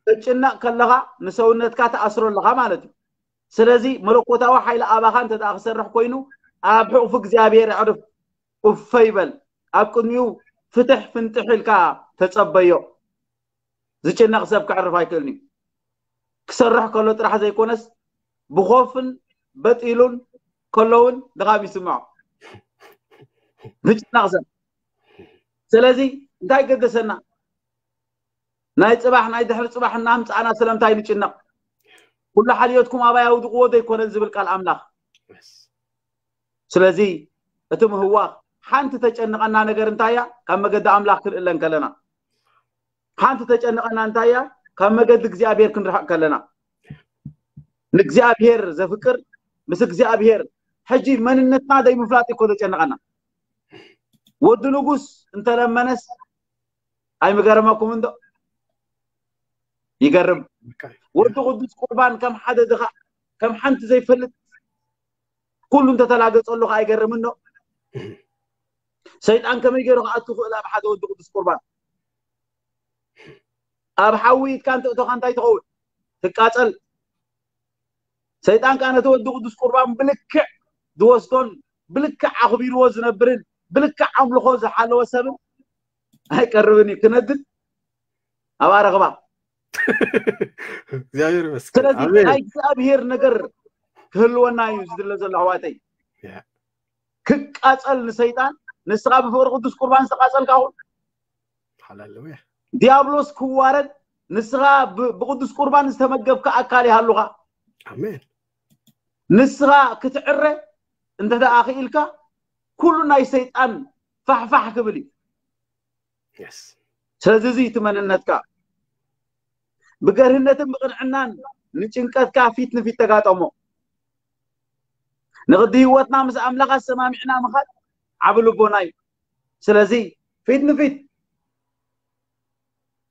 ትጭነቕ ከለኻ ንሰውነትካ ትኣስሮ ኣለኻ ማለት እዩ። ስለዚ መለኮታዊ ሓይሊ ኣባኻ እንተ ደኣ ክሰርሕ ኮይኑ ኣብ ሕቑፊ እግዚኣብሔር ኣዕርፍ። እፈይ በል። ኣብ ቅድሚኡ ፍትሕ ፍንጥሕ ኢልካ ተጸበዮ። ዝጭነቕ ሰብ ክዕርፍ ኣይክእልን እዩ። ክሰርሕ ከሎ ጥራሕ ዘይኮነስ ብኾፍን በጢሉን ከሎ እውን ድኻም ይስምዖ። ዝጭነቕ ሰብ። ስለዚ እንታይ ገደሰና? ናይ ጽባሕ ናይ ድሕሪ ጽባሕ እናምጻእና ስለምንታይ ንጭነቕ? ኩሉ ሓልዮትኩም ኣባይ ኣውድቕዎ ዘይኮነ ዝብል ቃል ኣምላኽ። ስለዚ እቲ ምህዋኽ ሓንቲ ተጨንቐና ነገር እንታይ እያ? ካብ መገዲ ኣምላኽ ክንእለ እንከለና። ሓንቲ ተጨንቐና እንታይ እያ? ካብ መገዲ እግዚኣብሔር ክንርሕቕ ከለና። ንእግዚኣብሔር ዘፍቅር ምስ እግዚኣብሔር ሕጂ መንነትና ዘይምፍላጥ እኮ ዘጨንቐና። ወዲ ንጉስ እንተለመነስ ኣይምገረመኩም እንዶ? ይገርም። ወዲ ቅዱስ ቁርባን ከም ሓደ ድኻ፣ ከም ሓንቲ ዘይፈልጥ ኩሉ እንተተላገጸሉ ከኣ ኣይገርምን ዶ? ሰይጣን ከመይ ገይሩ ክኣቱ ክእል ኣብ ሓደ ወዲ ቅዱስ ቁርባን? ኣብ ሓዊ ኢድካ እንተእቶኻ እንታይ ትኸውን? ትቃጸል። ሰይጣን ከኣ ነቲ ወዲ ቅዱስ ቁርባን ብልክዕ ዝወስዶን ብልክዕ ኣኽቢርዎ ዝነብርን ብልክዕ ኣምልኾ ዝሓለወ ሰብን ኣይቀርብን እዩ። ክነድድ ኣብኣ ረኽባ። እግዚኣብሔር ይመስገን። ስለዚ ኣሜን። ናይ እግዚኣብሔር ነገር ክህልወና እዩ ዝድለ ዘሎ ኣሕዋተይ። ያ። ክቃጸል ንሰይጣን፣ ንስኻ ብፍቕሪ ቅዱስ ቁርባን ዝተቃጸልካ ኹን። ሃሌሉያ። ዲያብሎስ ክዋረድ፣ ንስኻ ብ- ብቅዱስ ቁርባን ዝተመገብካ ኣካል ይሃሉኻ። ኣሜን። ንስኻ ክትዕረ እንተ ደኣ ክኢልካ፣ ኩሉ ናይ ሰይጣን ፋሕፋሕ ክብል እዩ። የስ። ስለዚ እዚ እቲ መንነትካ ብገርህነትን ብቅንዕናን ንጭንቀትካ ፊት ንፊት ተጋጠሞ። ንቅዲ ህይወትና ምስ ኣምላኽ ኣሰማሚዕና ምኻድ ዓቢ ልቦና እዩ። ስለዚ ፊት ንፊት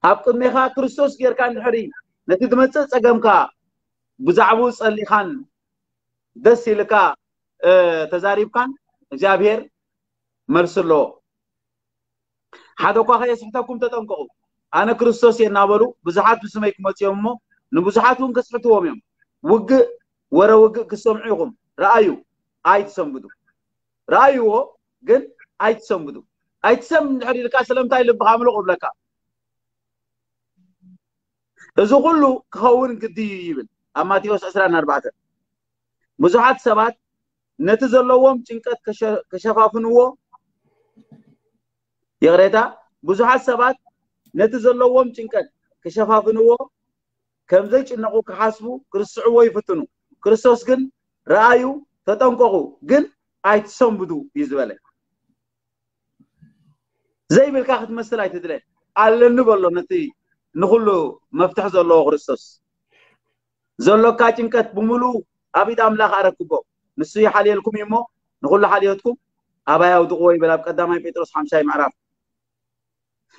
ኣብ ቅድሜኻ ክርስቶስ ጌርካ እንድሕሪ ነቲ ዝመጽእ ጸገምካ ብዛዕባኡ ጸሊኻን ደስ ኢልካ፣ እ፣ ተዛሪብካን እግዚኣብሔር መልሲ ኣለዎ። ሓደ እኳ ከየስሕተኩም ተጠንቀቑ። ኣነ ክርስቶስ እየ እናበሉ ብዙሓት ብስመይ ክመጹ እዮም እሞ ንብዙሓት እውን ከስሕትዎም እዮም። ውግእ፣ ወረ ውግእ ክትሰምዑ ኢኹም። ረኣዩ፣ ኣይትሰንብዱ። ረኣይዎ፣ ግን ኣይትሰንብዱ። ኣይትሰንብድ እንድሕር ኢልካ ስለምንታይ ልብኻ ምሉቕ እብለካ። እዚ ኩሉ ክኸውን ግዲ እዩ ይብል ኣብ ማቴዎስ ዕስራን ኣርባዕተን። ብዙሓት ሰባት ነቲ ዘለዎም ጭንቀት ከሸ- ከሸፋፍንዎ፣ ይቕሬታ፣ ብዙሓት ሰባት ነቲ ዘለዎም ጭንቀት ከሸፋፍንዎ፣ ከም ዘይጭነቑ ክሓስቡ፣ ክርስዕዎ ይፍትኑ። ክርስቶስ ግን ረኣዩ፣ ተጠንቀቑ፣ ግን ኣይትሰንብዱ እዩ ዝበለ። ዘይብልካ ክትመስል ኣይትድለ። ኣለኒ በሎ ነቲ ንኹሉ መፍትሒ ዘለዎ ክርስቶስ። ዘሎካ ጭንቀት ብምሉኡ ኣብ ኢድ ኣምላኽ ኣረክቦ። ንሱ ይሓልየልኩም እዩ እሞ ንኹሉ ሓልዮትኩም ኣባይ ኣውድቕዎ ይብል ኣብ ቀዳማይ ጴጥሮስ ሓምሻይ ምዕራፍ።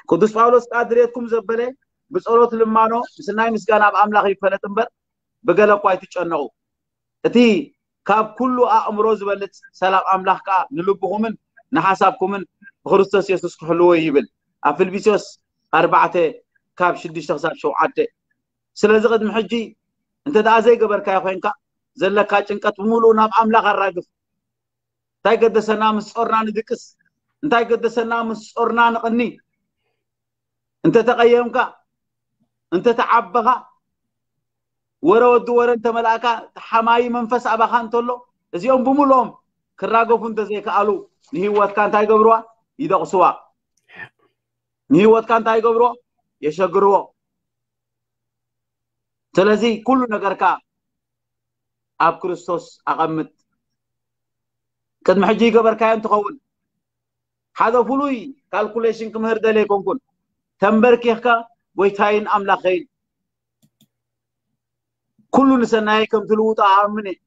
ቅዱስ ጳውሎስ ከኣ ድሌትኩም ዘበለ ብጸሎት ልማኖ ምስናይ ምስጋና ኣብ ኣምላኽ ይፈለጥ እምበር ብገለ እኳ ኣይትጨነቑ። እቲ ካብ ኩሉ ኣእምሮ ዝበልጽ ሰላም ኣምላኽ ከኣ ንልብኹምን ንሓሳብኩምን ብክርስቶስ የሱስ ክሕልዎ እዩ ይብል ኣብ ፊልጵስዮስ ኣርባዕተ ካብ ሽዱሽተ ክሳብ ሸውዓተ። ስለዚ ቅድሚ ሕጂ እንተ ደኣ ዘይገበርካዮ ኮይንካ ዘለካ ጭንቀት ብምሉኡ ናብ ኣምላኽ ኣራግፍ። እንታይ ገደሰና ምስ ጾርና ንድቅስ? እንታይ ገደሰና ምስ ጾርና ንቕኒ? እንተ ተቐየምካ፣ እንተ ተዓበኻ፣ ወረ ወዲ ወረ እንተ መላእካ፣ ተሓማዪ መንፈስ ኣባኻ እንተሎ፣ እዚኦም ብምልኦም ክራገፉ እንተ ዘይከኣሉ ንህይወትካ እንታይ ይገብርዋ? ይደቕስዋ። ንህይወትካ እንታይ ይገብርዎ? የሸግርዎ። ስለዚ ኩሉ ነገርካ ኣብ ክርስቶስ ኣቐምጥ። ቅድሚ ሕጂ ይገበርካዮ እንትኸውን ሓደ ፍሉይ ካልኩሌሽን ክምህር ደልየ ኣይኮንኩን። ተንበርኪኽካ ጎይታይን ኣምላኸይን ኩሉ ንሰናየይ ከም ትልውጦ ኣኣምን እየ።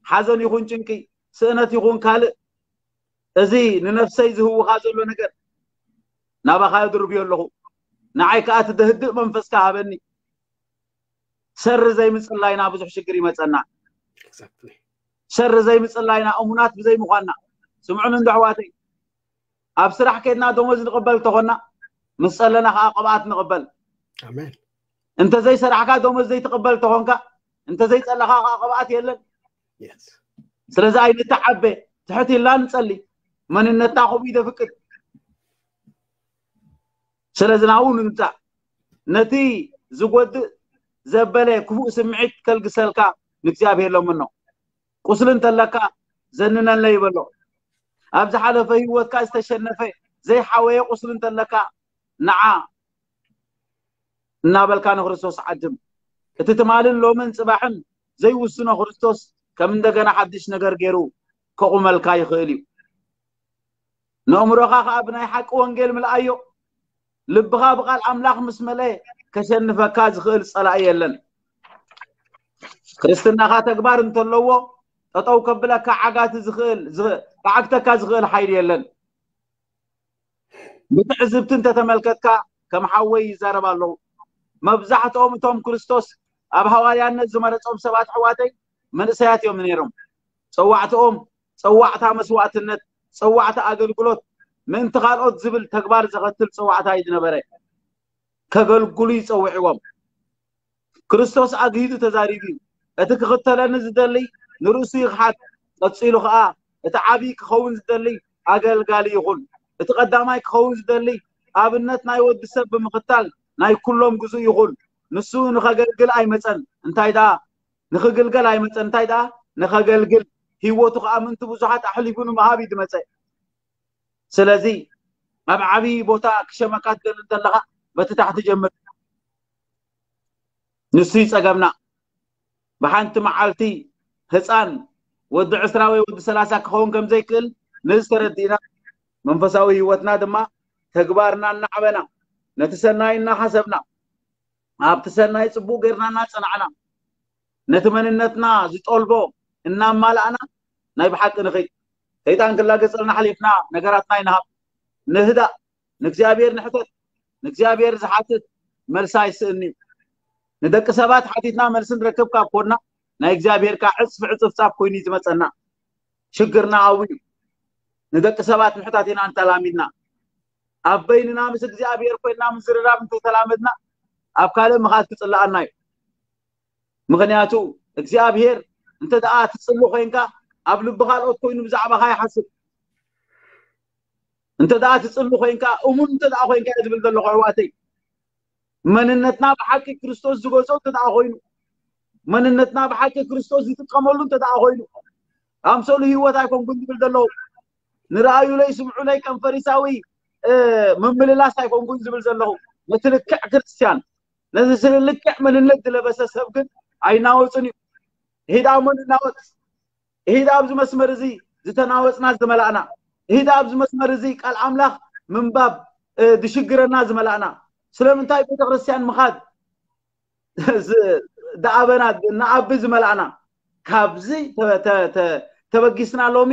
ሓዘን ይኹን ጭንቂ፣ ስእነት ይኹን ካልእ፣ እዚ ንነፍሰይ ዝህውኻ ዘሎ ነገር ናባኻ የድርብዮ ኣለኹ። ንዓይ ከኣ እቲ ደህድእ መንፈስካ ሃበኒ። ሰሪ ዘይምጽላይና ብዙሕ ሽግር ይመጸና። Exactly። ሰሪ ዘይምጽላይና እሙናት ብዘይምዃንና። ስምዑን እንዶ ኣሕዋተይ፣ ኣብ ስራሕ ከድና ደሞዝ ንቕበል ተኾና ምስ ጸለና ከዓ ቅብኣት ንቕበል። ኣሜን። እንተ ዘይሰራሕካ ደሞዝ ዘይትቕበል ተኾንካ፣ እንተ ዘይጸለኻ ከዓ ቅብኣት የለን። Yes። ስለዚ ኣይንተዓበ፣ ትሕት ኢልና ንጸሊ። መንነትና ከምኡ ይደፍቅድ። ስለዚ ናብኡ ንምጻእ ነቲ ዝጎድእ ዘበለ ክፉእ ስምዒት ከልግሰልካ ንእግዚኣብሔር ለምኖ። ቁስሊ እንተለካ ዘንነለይ በሎ። ኣብ ዝሓለፈ ህይወትካ ዝተሸነፈ ዘይሓወየ ቁስሊ እንተለካ ንዓ እናበልካ ንክርስቶስ ዓድም። እቲ ትማልን ሎምን ጽባሕን ዘይውስኖ ክርስቶስ ከም እንደገና ሓድሽ ነገር ገይሩ ከቑመልካ ይኽእል እዩ። ነእምሮኻ ኸዓ ብናይ ሓቂ ወንጌል ምልኣዮ። ልብኻ ብቓል ኣምላኽ ምስ መለ ከሸንፈካ ዝኽእል ጸላኢ የለን። ክርስትናኻ ተግባር እንተለዎ ጠጠው ከብለካ ዓጋቲ ዝኽእል ዝኽ- ክዓግተካ ዝኽእል ሓይሊ የለን። ብትዕዝብቲ እንተተመልከትካ ከም ሓወይ ይዛረብ ኣለዉ። መብዛሕትኦም እቶም ክርስቶስ ኣብ ሃዋርያነት ዝመረጾም ሰባት ኣሕዋተይ መንእሰያት እዮም ነይሮም። ጸዋዕትኦም ጸዋዕታ መስዋዕትነት፣ ጸዋዕታ ኣገልግሎት፣ ምእንቲ ካልኦት ዝብል ተግባር ዘኸትል ጸዋዕታ እዩ ዝነበረ። ከገልግሉ ይጸውዕዎም። ክርስቶስ ኣግሂዱ ተዛሪቡ እዩ። እቲ ክኽተለኒ ዝደሊ ንርእሱ ይኽሓድ፣ ቀጺሉ ኸኣ እቲ ዓቢ ክኸውን ዝደሊ ኣገልጋሊ ይኹን። እቲ ቀዳማይ ክኸውን ዝደሊ ኣብነት ናይ ወዲ ሰብ ብምኽታል ናይ ኩሎም ግዙእ ይኹን። ንሱ ንኸገልግል ኣይመጸን፣ እንታይ ደኣ ንኽግልገል ኣይመጸን፣ እንታይ ደኣ ንኸገልግል፣ ህይወቱ ኸኣ ምእንቲ ብዙሓት ኣሕሊፉ ንምሃብ እዩ ዝመጸ። ስለዚ ኣብ ዓቢ ቦታ ክሸመካ ትደሊ እንተለኻ በቲ ታሕቲ ጀምር። ንሱ እዩ ጸገምና። ብሓንቲ መዓልቲ ህፃን ወዲ ዕስራ ወይ ወዲ ሰላሳ ክኸውን ከም ዘይክእል ነዚ ተረዲእና መንፈሳዊ ህይወትና ድማ ተግባርና እናዓበና ነቲ ሰናይ እናሓሰብና ኣብቲ ሰናይ ጽቡቕ ጌርና እናጸናዕና ነቲ መንነትና ዝጠልቦ እናማላእና ናይ ብሓቂ ንኸይድ። ሰይጣን ክላገጸልና ሓሊፍና ነገራትና ይንሃብ። ንህዳእ ንእግዚኣብሔር ንሕተት። ንእግዚኣብሔር ዝሓትት መልሲ ኣይስእን እዩ። ንደቂ ሰባት ሓቲትና መልሲ ንረክብ ካብ ኮንና ናይ እግዚኣብሔር ከዓ ዕፅፊ ዕፅፍፃፍ ኮይኑ እዩ ዝመፀና። ሽግርና ኣብኡ እዩ። ንደቂ ሰባት ምሕታት ኢና እንተላሚድና። ኣብ በይንና ምስ እግዚኣብሔር ኮይንና ምዝርራብ እንተተላመድና ኣብ ካልእ ምኻድ ክፅልኣና እዩ። ምኽንያቱ እግዚኣብሔር እንተ ደኣ ትፅሉ ኮይንካ ኣብ ልቢ ካልኦት ኮይኑ ብዛዕባኻ ይሓስብ። እንተ ደኣ ትፅሉ ኮይንካ እሙን እንተ ደኣ ኮይንካ እየ ዝብል ዘለኹ ኣሕዋተይ። መንነትና ብሓቂ ክርስቶስ ዝገዝኦ እንተ ደኣ ኮይኑ መንነትና ብሓቂ ክርስቶስ ዝጥቀመሉ እንተ ደኣ ኮይኑ ኣምሰሉ ህይወት ኣይኮንኩን ዝብል ዘለኹ። ንረኣዩለይ ስምዑለይ ከም ፈሪሳዊ ምምልላስ ኣይኮንኩን ዝብል ዘለኹ። ነቲ ልክዕ ክርስትያን ነዚ ስለ ልክዕ መንነት ዝለበሰ ሰብ ግን ኣይናወፅን እዩ። ይሄዳ እሞ ንናወፅ። ይሄዳ ኣብዚ መስመር እዚ ዝተናወፅና ዝመላእና። ይሄዳ ኣብዚ መስመር እዚ ቃል ኣምላኽ ምንባብ ዝሽግረና ዝመላእና። ስለምንታይ ቤተክርስትያን ምኻድ ዝኣበና ንኣቢ ዝመላእና? ካብዚ ተበጊስና ሎሚ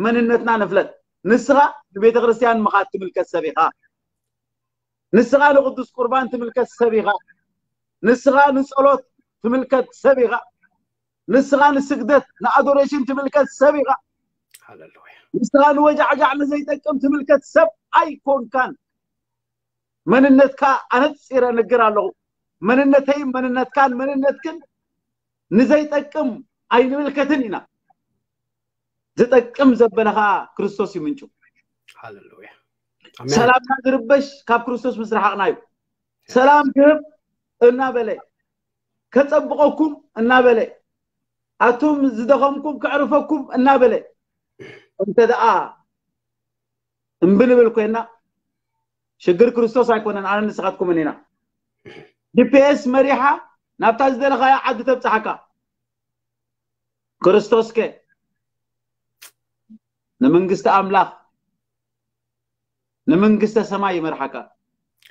መንነትና ንፍለጥ። ንስኻ ንቤተክርስትያን ምኻድ ትምልከት ሰብ ኢኻ። ንስኻ ንቅዱስ ቁርባን ትምልከት ሰብ ኢኻ። ንስኻ ንጸሎት ትምልከት ሰብ ኢኻ። ንስኻ ንስግደት ንኣዶሬሽን ትምልከት ሰብ ኢኻ። ሃሌሉያ። ንስኻ ንወጃዕጃዕ ንዘይጠቅም ትምልከት ሰብ ኣይኮንካን። መንነትካ ኣነጺረ እነግር ኣለኹ። መንነተይን መንነትካን መንነትክን ንዘይጠቅም ኣይንምልከትን ኢና። ዝጠቅም ዘበለ ኸዓ ክርስቶስ እዩ ምንጩ። ሃሌሉያ። ሰላምና ዝርበሽ ካብ ክርስቶስ ምስ ረሓቕና እዩ። ሰላም ክህብ እናበለ ከጸብቐኩም እናበለ ኣቱም ዝደኸምኩም ከዕርፈኩም እናበለ እንተ ደኣ እምቢ ንብል ኮይና ሽግር ክርስቶስ ኣይኮነን፣ ኣነ ንስኻትኩምን ኢና። ጂፒኤስ መሪሓ ናብታ ዝደለኻያ ዓዲ ተብጽሓካ። ክርስቶስ ከ ንመንግስቲ ኣምላኽ ንመንግስተ ሰማይ ይመርሓካ።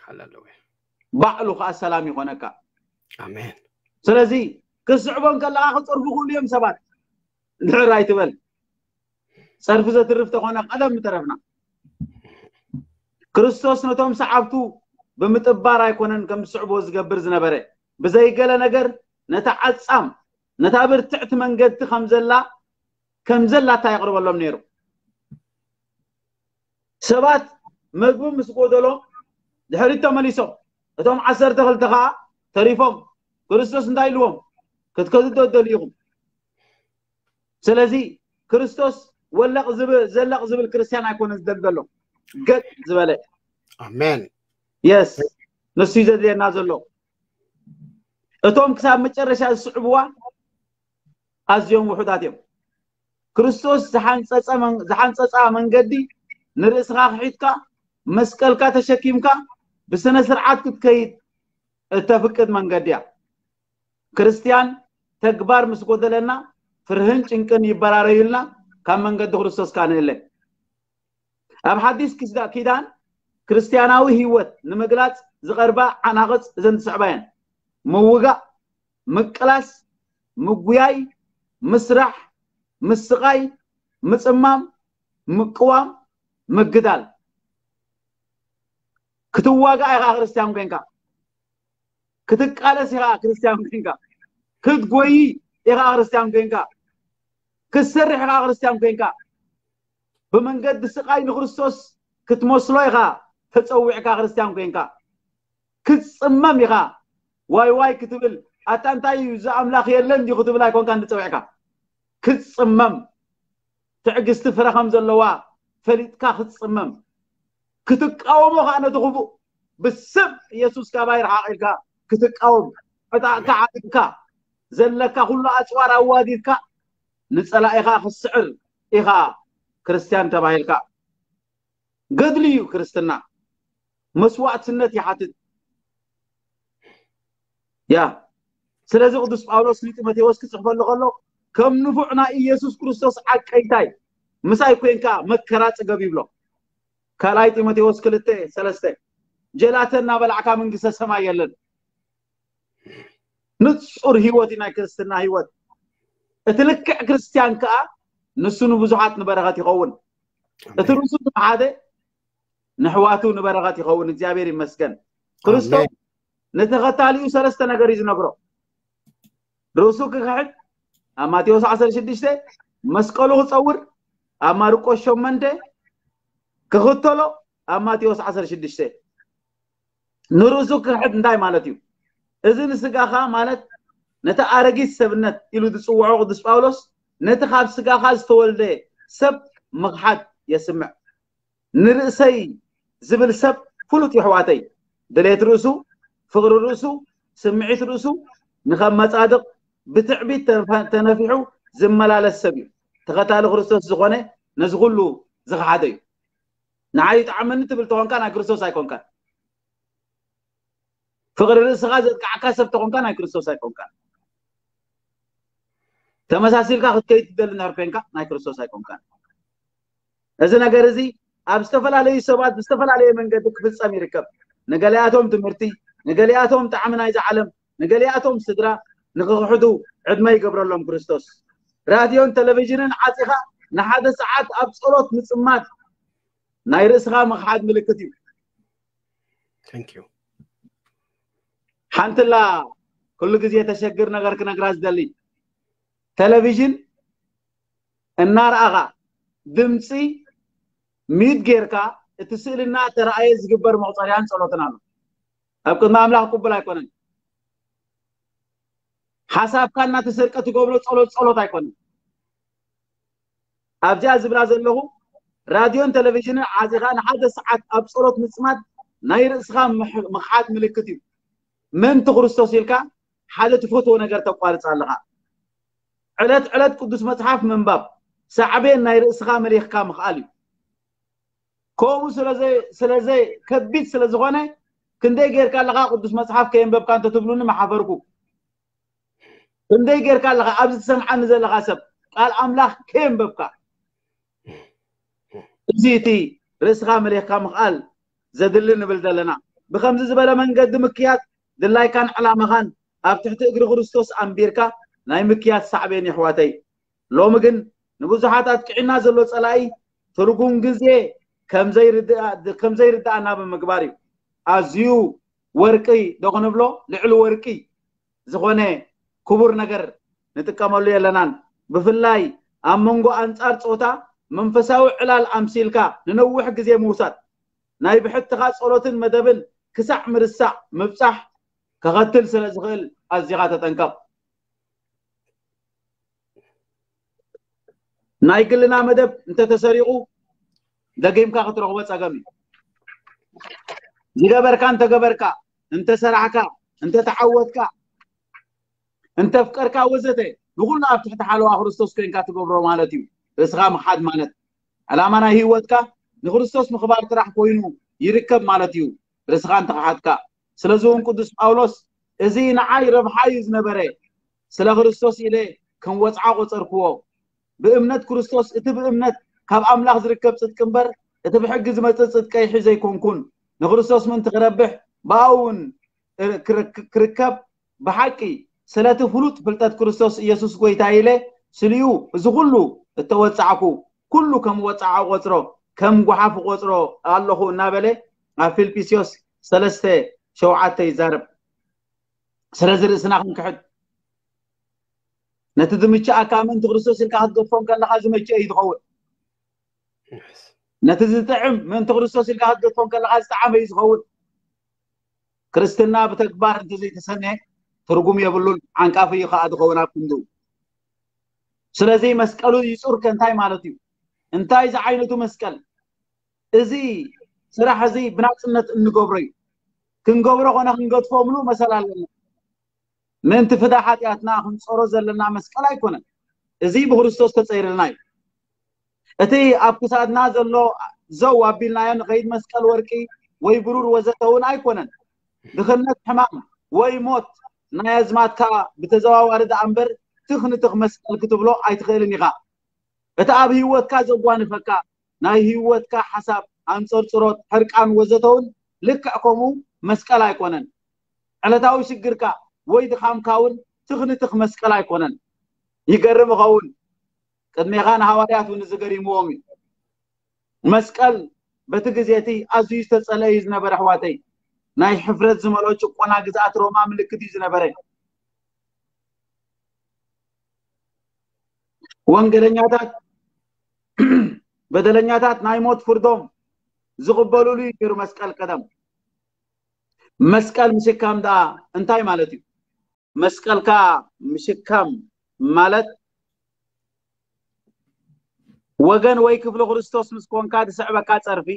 ሃሌሉያ። ባዕሉ ከዓ ሰላም ይኾነካ። ኣሜን። ስለዚ ክስዕቦም ከለኻ ክፀርፉ ክእሉ እዮም ሰባት። ድሕር ኣይትበል። ፀርፊ ዘትርፍ ተኾነ ቀደም ምተረፍና። ክርስቶስ ነቶም ሰዓብቱ ብምጥባር ኣይኮነን ከም ዝስዕብዎ ዝገብር ዝነበረ። ብዘይገለ ነገር ነታ ዓጻም ነታ ብርትዕቲ መንገድቲ ከም ዘላ ከም ዘላታ የቕርበሎም ነይሩ። ሰባት መግቢ ምስ ጎደሎም ድሕሪት ተመሊሶም እቶም ዓሰርተ ክልተ ከዓ ተሪፎም ክርስቶስ እንታይ ኢልዎም? ክትከዱ ዶ ትደልዩ ኢኹም? ስለዚ ክርስቶስ ወለቕ ዝብል ዘለቕ ዝብል ክርስትያን ኣይኮነን ዝደሊ ዘሎ። ገጥ ዝበለ ኣሜን። የስ ንሱ እዩ ዘድልየና ዘሎ። እቶም ክሳብ መጨረሻ ዝስዕብዋ ኣዝዮም ውሑዳት እዮም። ክርስቶስ ዝሓንፀፀ መን- ዝሓንፀፃ መንገዲ ንርእስኻ ክሒድካ መስቀልካ ተሸኪምካ ብስነ ስርዓት ክትከይድ እተፍቅድ መንገዲ እያ። ክርስትያን ተግባር ምስ ጎደለና ፍርህን ጭንቅን ይበራረዩልና፣ ካብ መንገዲ ክርስቶስ ካንእለ። ኣብ ሓዲስ ኪስዳ- ኪዳን ክርስትያናዊ ህይወት ንምግላጽ ዝቐርባ ዓናቕጽ እዘን ዝስዕባ እየን። ምውጋእ፣ ምቅላስ፣ ምጉያይ፣ ምስራሕ፣ ምስቓይ፣ ምጽማም፣ ምቅዋም፣ ምግዳል። ክትዋጋእ ኢኻ ክርስትያን ኮንካ። ክትቃለስ ኢኻ ክርስትያን ኮንካ። ክትጎይ ኢኻ ክርስትያን ኮንካ። ክትሰርሕ ኢኻ ክርስትያን ኮንካ። ብመንገዲ ስቓይ ንክርስቶስ ክትመስሎ ኢኻ ተጸዊዕካ ክርስትያን ኮንካ። ክትጽመም ኢኻ። ዋይ ዋይ ክትብል፣ ኣታ እንታይ እዩ፣ እዚ ኣምላኽ የለን ድዩ ክትብል ኣይኮንካን ዝጸዊዕካ። ክትጽመም፣ ትዕግስቲ ፍረ ከም ዘለዋ ፈሊጥካ ክትጽመም። ክትቃወሞ ከኣ ነቲ ክፉእ ብስም ኢየሱስ ካባይ ርሓቕ ኢልካ ክትቃወም፣ ዕጣቕካ ዓጢቕካ፣ ዘለካ ኩሉ ኣጽዋር ኣዋዲድካ ንጸላኢኻ ክትስዕር ኢኻ ክርስትያን ተባሂልካ። ገድሊ እዩ ክርስትና። መስዋእትነት ይሓትት። ያ፣ ስለዚ ቅዱስ ጳውሎስ ንጢሞቴዎስ ክጽሕፈሉ ከሎ፣ ከም ንፉዕ ናይ ኢየሱስ ክርስቶስ ዓቀይታይ ምሳይ ኮንካ መከራ ጽገብ ይብሎ። ካልኣይ ጢሞቴዎስ ክልተ ሰለስተ። ጀላተ እናበላዕካ መንግስተ ሰማይ የለን። ንጹር ህይወት እዩ ናይ ክርስትና ህይወት። እቲ ልክዕ ክርስትያን ከኣ ንሱ ንብዙሓት ንበረኸት ይኸውን። እቲ ርእሱ ሓደ ንሕዋቱ ንበረኸት ይኸውን። እግዚኣብሔር ይመስገን። ክርስቶስ ኣሜን። ንተኸታሊኡ ሰለስተ ነገር እዩ ዝነግሮ። ርእሱ ክክሕድ ኣብ ማቴዎስ ዓሰርተ ሽዱሽተ፣ መስቀሉ ክጸውር ኣብ ማርቆስ ሸሞንተ፣ ክኽተሎ ኣብ ማቴዎስ ዓሰርተ ሽዱሽተ። ንርእሱ ክክሕድ እንታይ ማለት እዩ? እዚ ንስጋኻ ማለት ነቲ ኣረጊት ሰብነት ኢሉ ዝጽውዖ ቅዱስ ጳውሎስ ነቲ ካብ ስጋኻ ዝተወልደ ሰብ ምኽሓድ የስምዕ። ንርእሰይ ዝብል ሰብ ፍሉጥ የሕዋተይ። ድሌት ርእሱ፣ ፍቕሪ ርእሱ፣ ስምዒት ርእሱ ንኸመጻድቕ ብትዕቢት ተነፈ-፣ ተነፊሑ ዝመላለስ ሰብ እዩ። ተኸታሊ ክርስቶስ ዝኾነ ነዚ ኩሉ ዝኸሓደ እዩ። ንዓይ ይጥዓመኒ ትብል ተኾንካ ናይ ክርስቶስ ኣይኮንካን። ፍቕሪ ርእስኻ ዘጥቃዕካ ሰብ ተኾንካ ናይ ክርስቶስ ኣይኮንካን። ተመሳሲልካ ክትከይድ ትደሊ እንድሕር ኮንካ ናይ ክርስቶስ ኣይኮንካን። እዚ ነገር እዚ ኣብ ዝተፈላለዩ ሰባት ብዝተፈላለየ መንገዲ ክፍጸም ይርከብ። ንገሊኣቶም ትምህርቲ፣ ንገሊኣቶም ጣዕሚ ናይዛ ዓለም፣ ንገሊኣቶም ስድራ ንኽኽሕዱ ዕድመ ይገብረሎም ክርስቶስ። ራድዮን ቴሌቪዥንን ዓጺኻ ንሓደ ሰዓት ኣብ ጸሎት ምጽማድ ናይ ርእስኻ ምኽሓድ ምልክት እዩ። Thank you። ሓንትላ ኩሉ ግዜ ተሸግር ነገር ክነግራ ዝደሊ፣ ቴሌቪዥን እናረኣኻ ድምፂ ሚድ ጌርካ እቲ ስእልና ተረኣየ ዝግበር መቁፀርያን ጸሎትን ኣሎ። ኣብ ቅድሚ ኣምላኽ ቅቡል ኣይኮነን። ሓሳብካ እናተሰርቀ ትገብሮ ጸሎት ጸሎት ኣይኮነን። ኣብዚኣ ዝብላ ዘለኹ ራድዮን ቴሌቪዥንን ዓፂኻ ንሓደ ሰዓት ኣብ ጸሎት ምጽማድ ናይ ርእስኻ ምሕ-፣ ምኽሓድ ምልክት እዩ። ምእንቲ ክርስቶስ ኢልካ ሓደ ትፈትዎ ነገር ተቋርጽ ኣለኻ። ዕለት ዕለት ቅዱስ መጽሓፍ ምንባብ ሳዕቤን ናይ ርእስኻ መሊኽካ ምኽኣል እዩ። ከምኡ ስለዘይ-፣ ስለዘይ-፣ ከቢድ ስለዝኾነ ክንደይ ጌርካ ኣለኻ ቅዱስ መጽሓፍ ከየንበብካ እንተትብሉኒ ምሓፈርኩ። ክንደይ ጌርካ ኣለኻ ኣብዚ ትሰምዓኒ ዘለኻ ሰብ ቃል ኣምላኽ ከየንበብካ? እዚ እቲ ርእስኻ መሊኽካ ምኽኣል ዘድሊ ንብል ዘለና። ብኸምዚ ዝበለ መንገዲ ምክያድ ድላይካን ዕላማኻን ኣብ ትሕቲ እግሪ ክርስቶስ ኣንቢርካ ናይ ምክያድ ሳዕቤን የሕዋተይ። ሎሚ ግን ንብዙሓት ኣጥቂዕና ዘሎ ጸላኢ ትርጉም ግዜ ከም ዘይርድኣ-፣ ከም ዘይርድኣና ብምግባር እዩ። ኣዝዩ ወርቂ ዶ ክንብሎ ልዕሊ ወርቂ ዝኾነ ክቡር ነገር ንጥቀመሉ የለናን። ብፍላይ ኣብ መንጎ ኣንጻር ጾታ መንፈሳዊ ዕላል ኣምሲልካ ንነዊሕ ግዜ ምውሳድ፣ ናይ ብሕትኻ ጸሎትን መደብን ክሳዕ ምርሳዕ ምብጻሕ ከኸትል ስለ ዝኽእል ኣዚኻ ተጠንቀቕ። ናይ ግልና መደብ እንተተሰሪቑ ደጊምካ ክትረኽቦ ጸገም እዩ። ዝገበርካ እንተገበርካ፣ እንተሰራሕካ፣ እንተተዓወትካ፣ እንተፍቀርካ ወዘተ ንኹሉ ኣብ ትሕቲ ሓለዋ ክርስቶስ ኮይንካ ትገብሮ ማለት እዩ። ርእስኻ ምኽሓድ ማለት ዕላማ ናይ ህይወትካ ንክርስቶስ ምኽባር ጥራሕ ኮይኑ ይርከብ ማለት እዩ። ርእስኻ እንተኸሓድካ። ስለዚ እውን ቅዱስ ጳውሎስ እዚ ንዓይ ረብሓ እዩ ዝነበረ፣ ስለ ክርስቶስ ኢለ ከም ወጽዓ ቆጸርክዎ። ብእምነት ክርስቶስ እቲ ብእምነት ካብ ኣምላኽ ዝርከብ ጽድቂ እምበር እቲ ብሕጊ ዝመጽእ ጽድቀይ ሒዘ ኣይኮንኩን። ንክርስቶስ ምእንቲ ክረብሕ ብኣኡ እውን ክረ-፣ ክርከብ ብሓቂ ስለቲ ፍሉጥ ፍልጠት ክርስቶስ ኢየሱስ ጎይታ ኢለ ስልዩ እዚ ኩሉ እተወጻዕኩ ኩሉ ከም ወጻዓ ቆጽሮ ከም ጓሓፍ ቆጽሮ ኣለኹ እናበለ ኣብ ፊልጵስዮስ ሰለስተ ሸውዓተ ይዛረብ። ስለዚ ርእስና ክንክሕድ፣ ነቲ ዝምችኣካ ምእንቲ ክርስቶስ ኢልካ ክትገድፎ ከለኻ ዝመችእ እዩ ዝኸውን። ነቲ ዝጥዕም ምእንቲ ክርስቶስ ኢልካ ክትገድፎ ከለኻ ዝጠዓመ እዩ ዝኸውን። ክርስትና ብተግባር እንተዘይተሰነ ትርጉም የብሉን፣ ዓንቃፊ እዩ ከዓ ዝኸውን ኣብ ክንድኡ። ስለዚ መስቀሉ ይጹር ከ እንታይ ማለት እዩ? እንታይ ዝዓይነቱ መስቀል? እዚ ስራሕ እዚ ብናጽነት እንገብሮ እዩ። ክንገብሮ ኮነ ክንገድፎ ምሉእ መሰል ኣለና። ምእንቲ ፍዳ ሓጢኣትና ክንጾሮ ዘለና መስቀል ኣይኮነን። እዚ ብክርስቶስ ተጸይርልና እዩ። እቲ ኣብ ክሳድና ዘሎ ዘው ኣቢልናዮ ንኸይድ መስቀል ወርቂ ወይ ብሩር ወዘተ እውን ኣይኮነን። ድኽነት፣ ሕማም ወይ ሞት ናይ ኣዝማት ከዓ ብተዘዋዋሪ ደኣ እምበር ትኽ ንትኽ መስቀል ክትብሎ ኣይትኽእልን ኢኻ። እቲ ኣብ ህይወትካ ዘጓንፈካ ናይ ህይወትካ ሓሳብ፣ ኣንጸርጽሮት፣ ሕርቃን ወዘተ እውን ልክዕ ከምኡ መስቀል ኣይኮነን። ዕለታዊ ሽግርካ ወይ ድኻምካ እውን ትኽ ንትኽ መስቀል ኣይኮነን። ይገርም ይኸውን። ቅድሜኻ ንሃዋርያት እውን እዚ ገሪምዎም እዩ። መስቀል በቲ ግዜ እቲ ኣዝዩ ዝተጸልአ እዩ ዝነበረ፣ ኣሕዋተይ። ናይ ሕፍረት ዝመልኦ ጭቆና ግዝኣት ሮማ ምልክት እዩ ዝነበረ። ወንጌለኛታት በደለኛታት ናይ ሞት ፍርዶም ዝቕበሉሉ እዩ ነይሩ መስቀል ቀደም። መስቀል ምሽካም ደኣ እንታይ ማለት እዩ? መስቀልካ ምሽካም ማለት ወገን ወይ ክፍሊ ክርስቶስ ምስ ኮንካ ዝስዕበካ ጸርፊ፣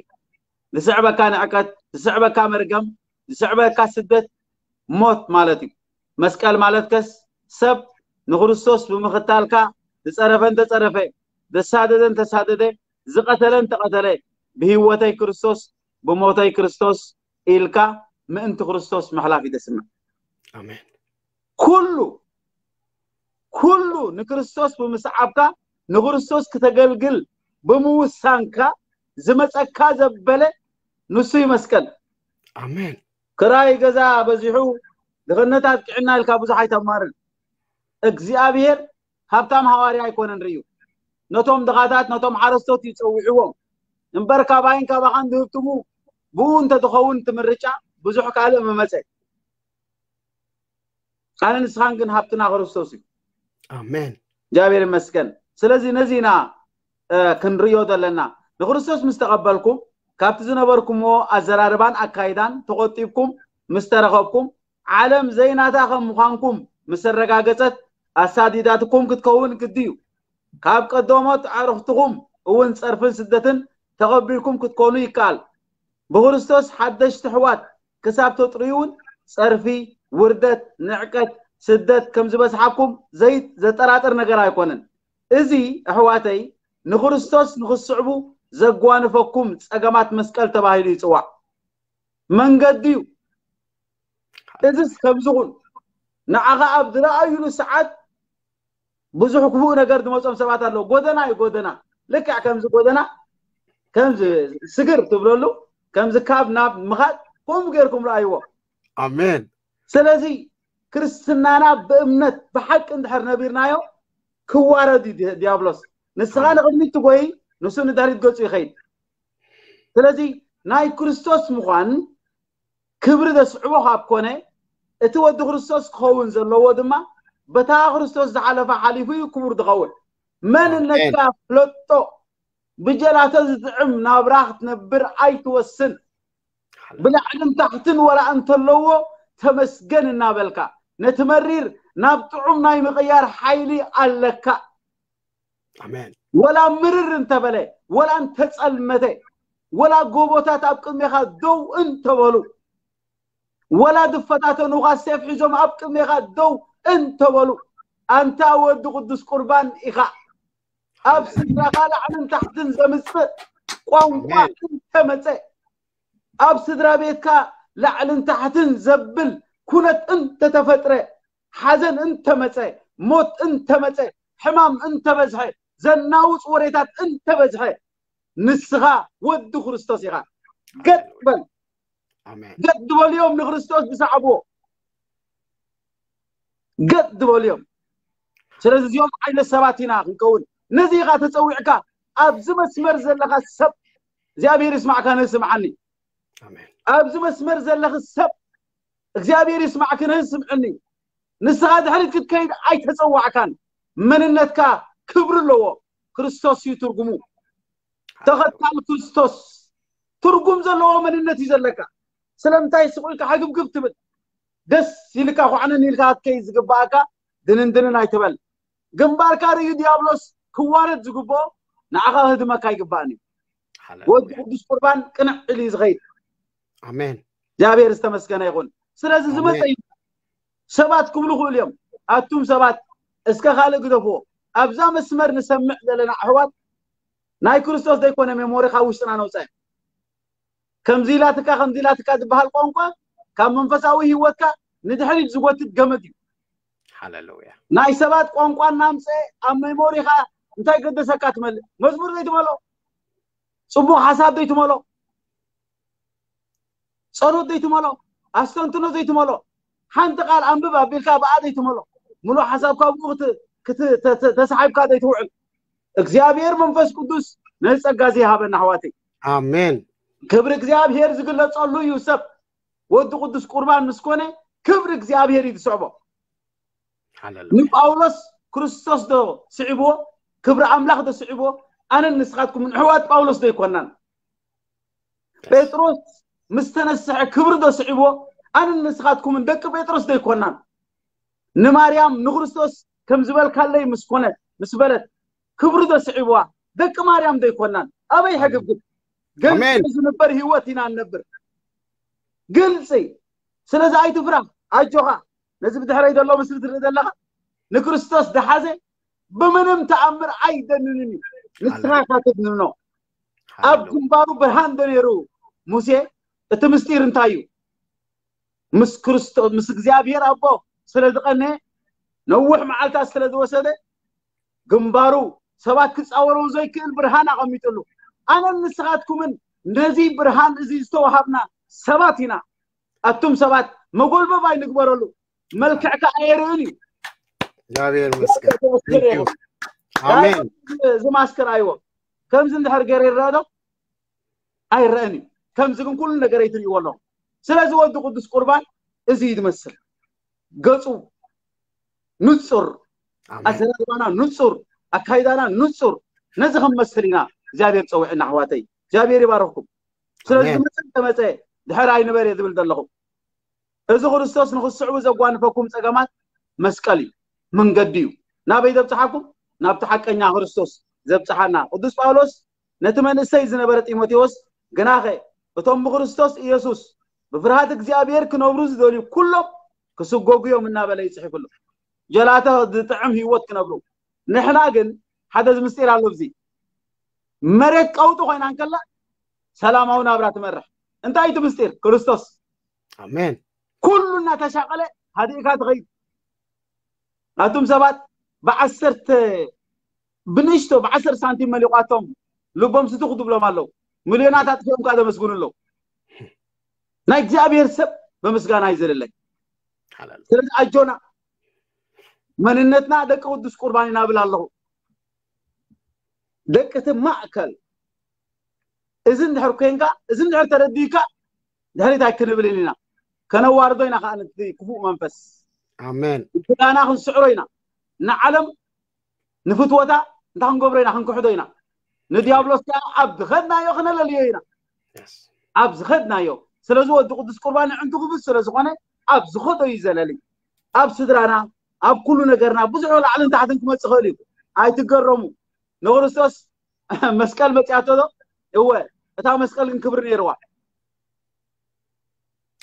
ዝስዕበካ ንዕቀት፣ ዝስዕበካ መርገም፣ ዝስዕበካ ስደት፣ ሞት ማለት እዩ። መስቀል ማለት ከስ ሰብ ንክርስቶስ ብምኽታልካ ዝጸረፈ እንተጸረፈ፣ ዘሳደደ እንተሳደደ፣ ዝቐተለ እንተቐተለ፣ ብህይወተይ ክርስቶስ፣ ብሞተይ ክርስቶስ ኢልካ ምእንቲ ክርስቶስ ምሕላፍ እዩ ደስምዕ። ኣሜን። ኩሉ ኩሉ ንክርስቶስ ብምስዓብካ ንክርስቶስ ክተገልግል ብምውሳንካ ዝመጸካ ዘበለ ንሱ እዩ መስቀል። ኣሜን። ክራይ ገዛ በዚሑ ድኽነት ኣጥቂዕና ኢልካ ብዙሕ ኣይተማርን። እግዚኣብሔር ሃብታም ሃዋርያ ኣይኮነን ርእዩ። ነቶም ድኻታት፣ ነቶም ሓረስቶት እዩ ጸዊዕዎም። እምበር ካባይን ካባኻን ዝህብትሙ ብኡ እንተትኸውን እቲ ምርጫ ብዙሕ ካልእ ምመጸ። ኣነ ንስኻን ግን ሃብትና ክርስቶስ እዩ። ኣሜን። እግዚኣብሔር ይመስገን። ስለዚ ነዚ ኢና እ፣ ክንርእዮ ዘለና። ንክርስቶስ ምስ ተቐበልኩም ካብቲ ዝነበርኩምዎ ኣዘራርባን ኣካይዳን ተቖጢብኩም ምስ ተረኸብኩም ዓለም ዘይናታ ከም ምዃንኩም ምስ ኣረጋገጸት ኣሳዲዳትኩም ክትከውን ግዲ እዩ። ካብ ቀደሞት ኣዕሩኽትኹም እውን ጸርፍን ስደትን ተቐቢልኩም ክትኮኑ ይከኣል። ብክርስቶስ ሓደሽቲ ኣሕዋት ክሳብ ተጥርዩ እውን ጸርፊ፣ ውርደት፣ ንዕቀት፣ ስደት ከም ዝበዝሓኩም ዘይ-፣ ዘጠራጥር ነገር ኣይኮነን። እዚ ኣሕዋተይ ንክርስቶስ ንክትስዕቡ ዘጓንፈኩም ጸገማት መስቀል ተባሂሉ ይጽዋዕ። መንገዲ እዩ። እዚስ ከምዚ ኹን ንዓኻ ኣብ ዝረኣዩሉ ሰዓት ብዙሕ ክፉእ ነገር ዝመጾም ሰባት ኣለዉ። ጎደና እዩ፣ ጎደና። ልክዕ ከምዚ ጎደና፣ ከምዚ ስግር ትብለሉ፣ ከምዚ ካብ ናብ ምኻድ፣ ከምኡ ጌርኩም ረኣይዎ። ኣሜን። ስለዚ ክርስትናና ብእምነት ብሓቂ እንድሕር ነቢርናዮ፣ ክዋረድ እዩ ዲ-፣ ዲያብሎስ። ንስኻ ንቕድሚት ትጎይ፣ ንሱ ንድሕሪት ገጹ ይኸይድ። ስለዚ ናይ ክርስቶስ ምዃን ክብሪ ዘስዕቦ ካብ ኮነ፣ እቲ ወዲ ክርስቶስ ክኸውን ዘለዎ ድማ በታ ክርስቶስ ዝሓለፈ ሓሊፉ እዩ ክቡር ዝኸውን። መንነትካ ፍለጦ። ብጀላተ ዝጥዕም ናብራ ክትነብር ኣይትወስን። ብላዕልን ታሕትን ወላ እንተለዎ ተመስገን እናበልካ፣ ነቲ መሪር ናብ ጥዑም ናይ ምቕያር ሓይሊ ኣለካ። ኣሜን። ወላ ምርር እንተበለ፣ ወላ እንተጸልመተ፣ ወላ ጎቦታት ኣብ ቅድሜኻ ደው እንተበሉ፣ ወላ ዝፈታተኑኻ ሴፍ ሒዞም ኣብ ቅድሜኻ ደው እንተበሉ፣ ኣንታ ወዲ ቅዱስ ቁርባን ኢኻ። ኣብ ስድራኻ ላዕልን ታሕትን ዘምጽእ ቋንቋ ኣሜን። እንተመጸ፣ ኣብ ስድራ ቤትካ ላዕልን ታሕትን ዘብል ኩነት እንተተፈጥረ፣ ሓዘን እንተመጸ፣ ሞት እንተመጸ፣ ሕማም እንተበዝሐ፣ ዘናውጽ ወሬታት እንተበዝሐ፣ ንስኻ ወዲ ክርስቶስ ኢኻ። ገጥ በል። ኣሜን። ገጥ ዝበልዮም ንክርስቶስ ዝሰዓብዎ። ገጥ ዝበልዮም። ስለዚ እዚኦም ዓይነት ሰባት ኢና ክንከውን። ነዚ ኢኻ ተጸዊዕካ፣ ኣብዚ መስመር ዘለኻ ሰብ እግዚኣብሔር ይስማዕካ፣ ነዚ ስምዓኒ። ኣሜን። ኣብዚ መስመር ዘለኺ ሰብ እግዚኣብሔር ይስማዕክን ስምዕኒ። ንስኻ ድሕሪት ክትከይድ ኣይተጸዋዕካን። መንነትካ ክብሪ ኣለዎ። ክርስቶስ እዩ ትርጉሙ። ተኸታል ክርስቶስ ትርጉም ዘለዎ መንነት እዩ ዘለካ። ስለምንታይ ስቕ ኢልካ ሕግብግብ ትብል? ደስ ኢልካ ኳዕነን ኢልካ ክትከይድ ዝግባኣካ ድንንድንን ኣይትበል። ግንባርካ ርእዩ ዲያብሎስ ክዋረድ ዝግብኦ ንዓኻ ክህድመካ ይግባእን እዩ። ወዲ ሃሌሉያ። ቅዱስ ቁርባን ቅንዕ ኢሉ እዩ ዝኸይድ። ኣሜን። እግዚኣብሔር ዝተመስገነ ይኹን። ስለዚ ዝመፀ ኣሜን። እዩ። ሰባት ክብሉ ይኽእሉ እዮም። ኣቱም ሰባት እስከ ካልእ ግደፍዎ። ኣብዛ መስመር ንሰምዕ ዘለና ኣሕዋት ናይ ክርስቶስ ዘይኮነ ሜሞሪ ካብ ውሽጥና ነውፀ። ከምዚ ኢላትካ ከምዚ ኢላትካ ዝበሃል ቋንቋ ካብ መንፈሳዊ ህይወትካ ንድሕሪት ዝጎትት ገመድ እዩ። ሃሌሉያ። ናይ ሰባት ቋንቋ እናምፀ ኣብ ሜሞሪኻ እንታይ ገደሰካ ትመልእ? መዝሙር ዘይትመሎ፣ ፅቡቅ ሓሳብ ዘይትመሎ፣ ጸሎት ዘይትመሎ፣ ኣስተንትኖ ዘይትመሎ፣ ሓንቲ ቃል ኣንብብ ኣቢልካ ብኣ ዘይትመሎ፣ ሙሉእ ሓሳብካ ኣብኡ ክት- ክት- ተ- ተ- ተሳሒብካ ዘይትውዕል። እግዚኣብሔር መንፈስ ቅዱስ ነዚ ጸጋ እዚ ይሃበና ኣሕዋተይ። ኣሜን። ክብሪ እግዚኣብሔር ዝግለጸሉ እዩ። ሰብ ወዲ ቅዱስ ቁርባን ምስ ኮነ ክብሪ እግዚኣብሔር እዩ ዝስዕቦ። ሃሌሉያ። ንጳውሎስ ክርስቶስ ዶ ስዒብዎ? ክብሪ ኣምላኽ ዶ ስዒብዎ? ኣነን ንስኻትኩምን ኣሕዋት ጳውሎስ ዶ ኣይኮናን? ጴጥሮስ ምስ ተነስሐ ክብሪ ዶ ስዒብዎ? ኣነን ንስኻትኩምን ደቂ ጴጥሮስ ዶ ኣይኮናን? ንማርያም ንክርስቶስ ከም ዝበልካለይ ምስ ኮነት ምስ በለት ክብሪ ዶ ስዒብዋ? ደቂ ማርያም ዶ ኣይኮናን? ኣበይ ሕግብግብ? ግልፂ ኣሜን። ዝንበር ህይወት ኢና እንነብር። ግልፂ። ስለዚ ኣይትፍራ፣ ኣጆኻ። ነዚ ብድሕረይ ዘሎ ምስሊ ትርኢ ዘለኻ ንክርስቶስ ዝሓዘ ብምንም ተኣምር ኣይደንንን እዩ። ንስኻ ሃሌሉያ። ኢኻ ተድንኖ። ኣብ ሃሌሉያ። ግንባሩ ብርሃን ዶ ነይሩ ሙሴ? እቲ ምስጢር እንታይ እዩ? ምስ ክርስቶስ ምስ እግዚኣብሔር ኣቦ ስለ ዝቐነየ ነዊሕ መዓልታት ስለ ዝወሰደ ግንባሩ ሰባት ክጻወረው ዘይክእል ብርሃን ኣቐሚጥሉ። ኣነን ንስኻትኩምን ነዚ ብርሃን እዚ ዝተዋሃብና ሰባት ኢና። ኣቱም ሰባት መጎልበብ ኣይንግበረሉ። መልክዕካ ኣየርእን እዩ። እግዚኣብሔር ይመስገን። ተወሰደ Thank you። ይኹን። ኣሜን። እዚ ማስከር ኣይዎ ከምዚ እንድሕር ገይረ ይረአ ዶ? ኣይረአን እዩ። ከምዚ ግን ኩሉ ነገር ኣይትርእይዎ ኣለኹም። ስለዚ ወዲ ቅዱስ ቁርባን እዚ እዩ ዝመስል። ገጹ ንጹር፣ ኣሜን። ኣዘራርባና ንጹር፣ ኣካይዳና ንጹር። ነዚ ከም መስል ኢና እግዚኣብሔር ጸዊዕና ኣሕዋተይ። እግዚኣብሔር ይባርኽኩም። ስለዚ ኣሜን። ዝመጸ ተመጸ ድሕር ኣይንበር እየ ዝብል ዘለኹ። እዚ ክርስቶስ ንኽስዕቡ ዘጓንፈኩም ጸገማት መስቀል እዩ፣ መንገዲ እዩ። ናበይ ዘብጽሓኩም? ናብቲ ሓቀኛ ክርስቶስ ዘብጽሓና። ቅዱስ ጳውሎስ ነቲ መንእሰይ ዝነበረ ጢሞቴዎስ ግናኸ እቶም ብክርስቶስ ኢየሱስ ብፍርሃት እግዚኣብሔር ክነብሩ ዝደልዩ ኩሎም ክስጎጉ እዮም እናበለ ይጽሕፍሉ። ጀላተ ዝጥዕም ህይወት ክነብሩ። ንሕና ግን ሓደ ምስጢር ኣሎ። እዚ መሬት ቀውጢ ኮይና እንከላ ሰላማዊ ናብራ ትመርሕ። እንታይ እቲ ምስጢር? ክርስቶስ። ኣሜን። ኩሉ እናተሻቀለ ሃዲእካ ትኸይድ። ኣቱም ሰባት ብዓሰርተ ብንእሽቶ ብዓሰርተ ሳንቲም መሊቋቶም ልቦም ስትኹ ትብሎም ኣለዉ። ሚልዮናት ኣጥፊኦም ከዓ ዘመስግኑ ኣለዉ። ናይ እግዚኣብሔር ሰብ ብምስጋና ይዘለለይ። ሓላል። ስለዚ ኣጆና መንነትና ደቂ ቅዱስ ቁርባን ኢና ብል ኣለኹ። ደቂ እቲ ማእከል እዚ እንድሕር ኮንካ፣ እዚ እንድሕር ተረዲእካ ድሕሪት ኣይክንብልን ኢና። ከነዋርዶ ኢና ከዓ ነቲ ክፉእ መንፈስ። ኣሜን። ብክዳና ክንስዕሮ ኢና። ንዓለም ንፍትወታ እንታይ ክንገብሮ ኢና? ክንክሕዶ ኢና። ንዲያብሎስ ከዓ ኣብ ዝኸድናዮ ክነለልዮ ኢና። Yes። ኣብ ዝኸድናዮ። ስለዚ ወዲ ቅዱስ ቁርባን ንዕንቱ ክብስ ስለ ዝኾነ ኣብ ዝኸዶ እዩ ዘለሊ። ኣብ ስድራና፣ ኣብ ኩሉ ነገርና ብዙሕ ላዕልን ታሕትን ክመጽእ ይኽእል እዩ። ኣይትገረሙ። ንክርስቶስ መስቀል መጺኣቶ ዶ? እወ፣ እታ መስቀል ግን ክብሪ ነይርዋ።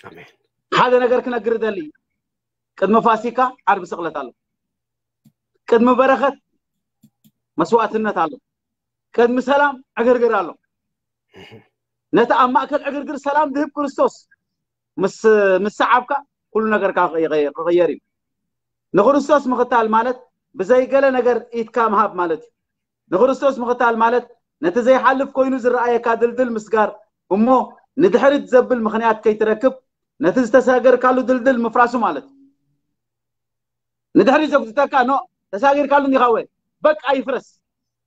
ኣሜን። ሓደ ነገር ክነግር ደሊ። ቅድሚ ፋሲካ ዓርቢ ስቕለት ኣሎ። ቅድሚ በረኸት መስዋዕትነት ኣሎ። ቅድሚ ሰላም ዕግርግር ኣሎ። ነቲ ኣብ ማእከል ዕግርግር ሰላም ዝህብ ክርስቶስ ምስ ምስ ሰዓብካ ኩሉ ነገርካ ክቕየ- ክቕየር እዩ። ንክርስቶስ ምኽታል ማለት ብዘይ ገለ ነገር ኢድካ ምሃብ ማለት እዩ። ንክርስቶስ ምኽታል ማለት ነቲ ዘይሓልፍ ኮይኑ ዝረኣየካ ድልድል ምስጋር እሞ ንድሕሪት ዘብል ምኽንያት ከይትረክብ ነቲ ዝተሳገርካሉ ድልድል ምፍራሱ ማለት እዩ። ንድሕሪት ዘጉትተካ ኖ ተሳጊርካሉ እንዲኻ ወ በቃ ይፍረስ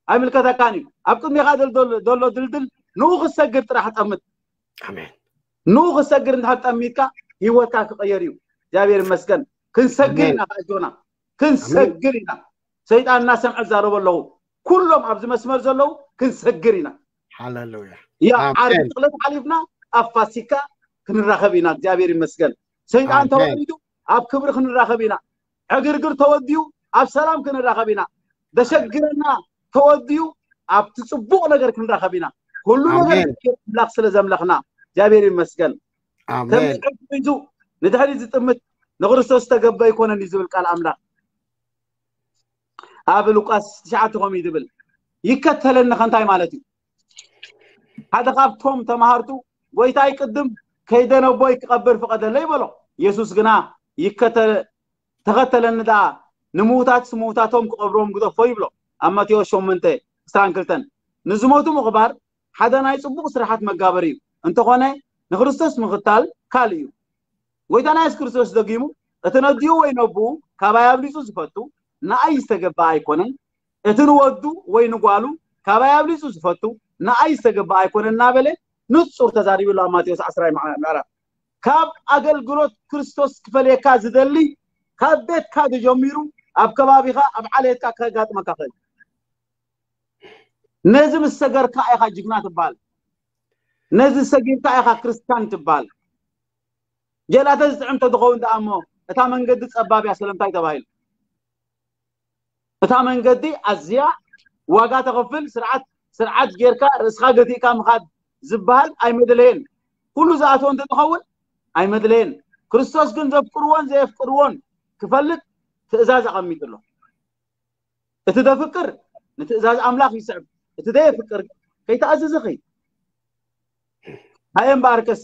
ኣይምልከተካን እዩ። ኣብ ቅድሜኻ ዘሎ- ዘሎ ድልድል ንኡ ክትሰግር ጥራሕ ጠምት። ኣሜን። ንኡ ክሰግድ እንድሕር ጠሚትካ ህይወትካ ክቐየር እዩ። እግዚኣብሔር ይመስገን። ክንሰግድ ኣሜን። ኢና ኣጆና፣ ክንሰግድ ኢና። ሰይጣን እናሰምዐ ዝዛረቡ ኣለዉ። ኩሎም ኣብዚ መስመር ዘለዉ ክንሰግድ ኢና። ሃሌሉያ። ያ ኣሜን። ዓርቢ ስቕለት ሓሊፍና ኣብ ፋሲካ ክንራኸብ ኢና። እግዚኣብሔር ይመስገን። ሰይጣን ኣሜን። ተወሪዱ ኣብ ክብሪ ክንራኸብ ኢና። ዕግርግር ተወዲኡ ኣብ ሰላም ክንራኸብ ኢና። ዘሸግረና ተወዲኡ ኣብቲ ጽቡቕ ነገር ክንራኸብ ኢና። ኩሉ ነገር ኣሜን። ኣምላኽ ስለ ዘምለኽና እግዚኣብሔር ይመስገን። ከም ኣሜን። ዝሕግ ሒዙ ንድሕሪት ዝጥምት ንክርስቶስ ዝተገበ ኣይኮነን እዩ ዝብል ቃል ኣምላኽ። ኣብ ሉቃስ ትሽዓተ ከምኡ እዩ ዝብል። ይከተለኒ ከ እንታይ ማለት እዩ? ሓደ ካብቶም ተማሃርቱ ጎይታይ ቅድም ከይደ ነቦይ ክቐብር ፍቐደለይ በሎ። የሱስ ግና ይከተል ተኸተለኒ ደኣ ንምዉታት ምዉታቶም ክቐብሮም ግደፎ ይብሎ። ኣብ ማቴዎስ ሸሞንተ ዕስራን ክልተን። ንዝሞቱ ምቕባር ሓደ ናይ ጽቡቕ ስራሓት መጋበሪ እዩ። እንተኾነ ንክርስቶስ ምኽታል ካልእ እዩ። ጎይታና የሱስ ክርስቶስ ደጊሙ እቲ ነዲኡ ወይ ነብኡ ካባይ ኣብሊጹ ዝፈቱ ንኣይ ዝተገበኣ ኣይኮነን፣ እቲ ንወዱ ወይ ንጓሉ ካባይ ኣብሊጹ ዝፈቱ ንኣይ ዝተገበኣ ኣይኮነን እናበለ ንጹር ተዛሪቡ ኣሎ ኣብ ማቴዎስ ዓስራይ ምዕራፍ። ካብ ኣገልግሎት ክርስቶስ ክፈልየካ ዝደሊ ካብ ቤትካ ተጀሚሩ ኣብ ከባቢኻ ኣብ ዓሌትካ ከጋጥመካ ኽእል። ነዚ ምስ ሰገርካ ኢኻ ጅግና ትበሃል። ነዚ ሰጊርካ ኢኻ ክርስቲያን ትበሃል። ጀላተ ዝጥዕም ተትኸውን ደኣ እሞ እታ መንገዲ ጸባብ እያ ስለምንታይ ተባሂሉ? እታ መንገዲ ኣዝያ ዋጋ ተኸፍል ስርዓት ስርዓት ጌርካ ርእስኻ ገቲእካ ምኻድ ዝበሃል ኣይመድለየን። ኩሉ ዝኣትዎ እንተትኸውን ኣይመድለየን። ክርስቶስ ግን ዘፍቅርዎን ዘየፍቅርዎን ክፈልጥ ትእዛዝ ኣቐሚጡ ኣሎ። እቲ ዘፍቅር ንትእዛዝ ኣምላኽ ይስዕብ፣ እቲ ዘየፍቅር ከይተኣዘዘ ኸይድ። ሃየ እምበኣርከስ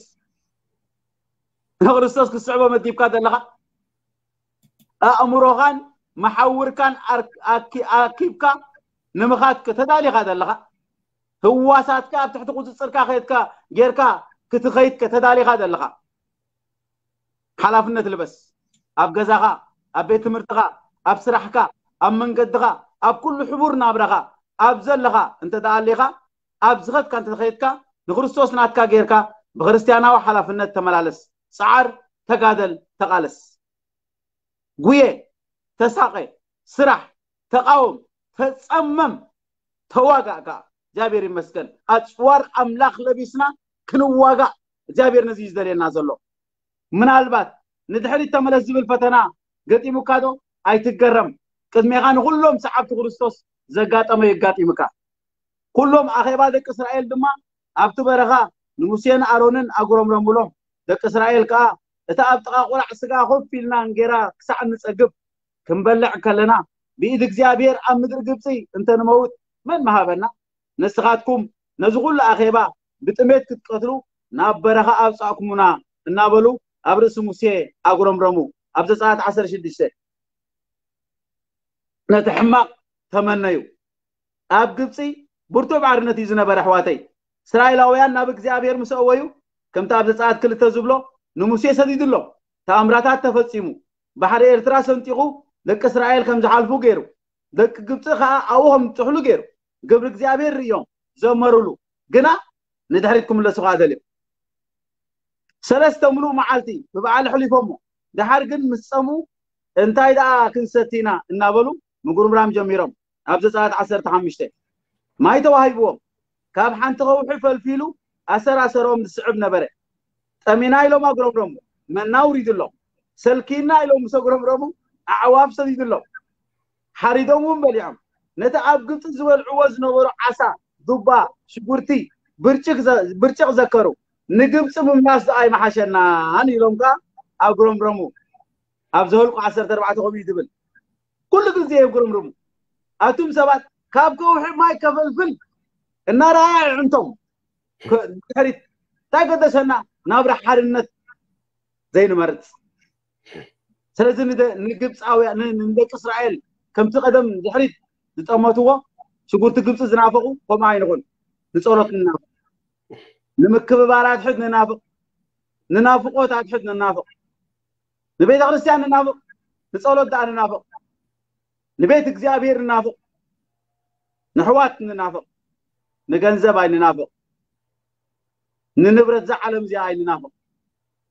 ንክርስቶስ ክትስዕቦ መዲብካ ዘለኻ ኣእምሮኻን መሓውርካን ኣር- ኣኪ- ኣኪብካ ንምኻድ ከተዳሊኻ ዘለኻ ህዋሳትካ ኣብ ትሕቲ ቁፅፅርካ ከየድካ ጌርካ ክትኸይድ ከተዳሊኻ ዘለኻ ሓላፍነት ልበስ። ኣብ ገዛኻ፣ ኣብ ቤት ትምህርትኻ፣ ኣብ ስራሕካ፣ ኣብ መንገድኻ፣ ኣብ ኩሉ ሕቡር ናብራኻ ኣብ ዘለኻ እንተ ደኣ ኣሊኻ ኣብ ዝኸድካ እንተ ከይድካ ንክርስቶስ ናትካ ጌርካ ብክርስትያናዊ ሓላፍነት ተመላለስ። ጸዓር፣ ተጋደል፣ ተቓለስ። ጉየ፣ ተሳቐ፣ ስራሕ፣ ተቓወም፣ ተጸመም፣ ተዋጋእ ከኣ። እግዚኣብሔር ይመስገን ኣጽዋር ኣምላኽ ለቢስና ክንዋጋእ እግዚኣብሔር ነዚ እዩ ዝደልየና ዘሎ። ምናልባት ንድሕሪት ተመለስ ዝብል ፈተና ገጢሙካ ዶ? ኣይትገረም። ቅድሜኻ ንኹሎም ሰዓብቲ ክርስቶስ ዘጋጠመ የጋጢምካ። ኩሎም ኣኼባ ደቂ እስራኤል ድማ ኣብቲ በረኻ ንሙሴን ኣሮንን ኣጉረምረሙሎም። ደቂ እስራኤል ከኣ እታ ኣብ ጥቓ ቁራዕ ስጋ ኮፍ ኢልና እንጌራ ክሳዕ እንጸግብ ክንበልዕ ከለና ብኢድ እግዚኣብሔር ኣብ ምድሪ ግብጺ እንተንመውት መን ምሃበና? ንስኻትኩም ነዚ ኩሉ ኣኼባ ብጥሜት ክትቀትሉ ናብ በረኻ ኣብጻእኩሙና እናበሉ ኣብ ርእሲ ሙሴ ኣጉረምረሙ። ኣብ ዘጸኣት ዓሰርተ ሽዱሽተ ነቲ ሕማቕ ተመነዩ። ኣብ ግብጺ ብርቱዕ ባርነት እዩ ዝነበረ ኣሕዋተይ። እስራኤላውያን ናብ እግዚኣብሔር ምስ ኣወዩ ከምቲ ኣብ ዘጸኣት ክልተ ዝብሎ ንሙሴ ሰዲዱሎም። ተኣምራታት ተፈጺሙ። ባሕሪ ኤርትራ ሰንጢቑ ደቂ እስራኤል ከም ዝሓልፉ ገይሩ። ደቂ ግብጺ ከኣ ኣብኡ ከም ዝጥሕሉ ገይሩ። ግብሪ እግዚኣብሔር ርእዮም ዘመሩሉ። ግና ንድሕሪት ክምለሱ ከኣ ደልዮም። ሰለስተ ምሉእ መዓልቲ ብበዓል ኣሕሊፎሞ። ደሓር ግን ምስ ጸምኡ እንታይ ደኣ ክንሰቲ ኢና እናበሉ ምጉርምራም ጀሚሮም። ኣብ ዘጸኣት ዓሰርተ ሓሙሽተ ማይ ተዋሂብዎም። ካብ ሓንቲ ከውሒ ፈልፊሉ ኣሰር ኣሰሮም ዝስዕብ ነበረ። ጠሚና ኢሎም ኣጉረምረሙ። መና ውሪድሎም። ሰልኪና ኢሎም ምስ ኣጉረምረሙ ኣዕዋፍ ሰዲድሎም። ሓሪዶም እውን በሊዖም። ነቲ ኣብ ግብጺ ዝበልዕዎ ዝነበሩ ዓሳ፣ ዱባ፣ ሽጉርቲ፣ ብርጭቅ ዘ- ብርጭቅ ዘከሩ። ንግብጺ ምምላስ ደኣ ኣይመሓሸናን ኢሎም ከኣ ኣጉረምረሙ። ኣብ ዘኍልቁ ዓሰርተ ኣርባዕተ ከምኡ እዩ ዝብል። ኩሉ ግዜ የጉረምርሙ። ኣቱም ሰባት ካብ ከውሒ ማይ ከፈልፍል እናረኣየ ኣዕንቶም ከ- ድሕሪት እንታይ ገደሰና? ናብራ ሓርነት ዘይንመርጽ። ስለዚ ንደ- ንግብፃውያን ን- ንደቂ እስራኤል ከምቲ ቀደም ድሕሪት ዝጠመትዎ ሽጉርቲ ግብፂ ዝናፈቑ ከምኡ ኣይንኹን። ንፀሎት ንናፍቕ፣ ንምክብባር ኣትሕት ንናፍቕ፣ ንናፍቆት ኣትሕት ንናፍቕ፣ ንቤተ ክርስቲያን ንናፍቕ፣ ንፀሎት ደኣ ንናፍቕ፣ ንቤት እግዚኣብሔር ንናፍቕ፣ ንሕዋት ንናፍቕ፣ ንገንዘብ ኣይንናፍቕ። ንንብረት እዛ ዓለም እዚኣ ኣይንናፍቕ።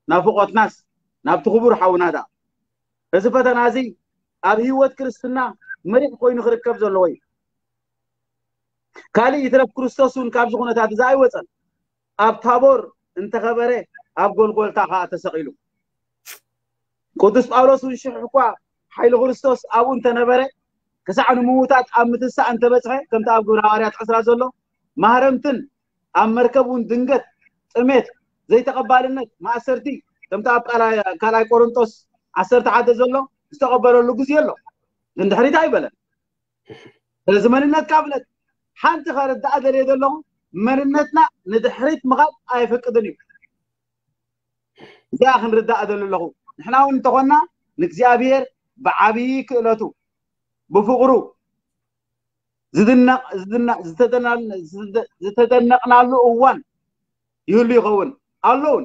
ናፍቖትናስ ናብቲ ክቡር ሓውና ደኣ። እዚ ፈተና እዚ ኣብ ህይወት ክርስትና መሪሕ ኮይኑ ክርከብ ዘለዎ እዩ። ካልእ ይትረፍ ክርስቶስ እውን ካብዚ ኩነታት እዚ ኣይወፀን። ኣብ ታቦር እንተኸበረ ኣብ ጎልጎልታ ከዓ ተሰቒሉ። ቅዱስ ጳውሎስ እውን ሽሕ እኳ ሓይሊ ክርስቶስ ኣብኡ እንተነበረ ክሳዕ ንምውታት ኣብ ምትሳእ እንተበፅሐ ከምቲ ኣብ ግብረ ሃዋርያት ዕስራ ዘሎ ማህረምትን ኣብ መርከብ እውን ድንገት ጥሜት ዘይተቐባልነት ማእሰርቲ ከምቲ ኣብ ካልኣይ ቆሮንጦስ ዓሰርተ ሓደ ዘሎ ዝተቐበለሉ ግዜ ኣሎ። ግን ድሕሪት ኣይበለን። ስለዚ መንነትካ ፍለጥ። ሓንቲ ከርዳእ ደልየ ዘለኹ መንነትና ንድሕሪት ምኻድ ኣይፈቅድን እዩ። እዚኣ ክንርዳእ ደሊ ኣለኹ። ንሕና እውን እንተኾንና ንእግዚኣብሔር ብዓብዪ ክእለቱ ብፍቕሩ ዝተደነቕናሉ እዋን ይህሉ ይኸውን ኣሎ እውን።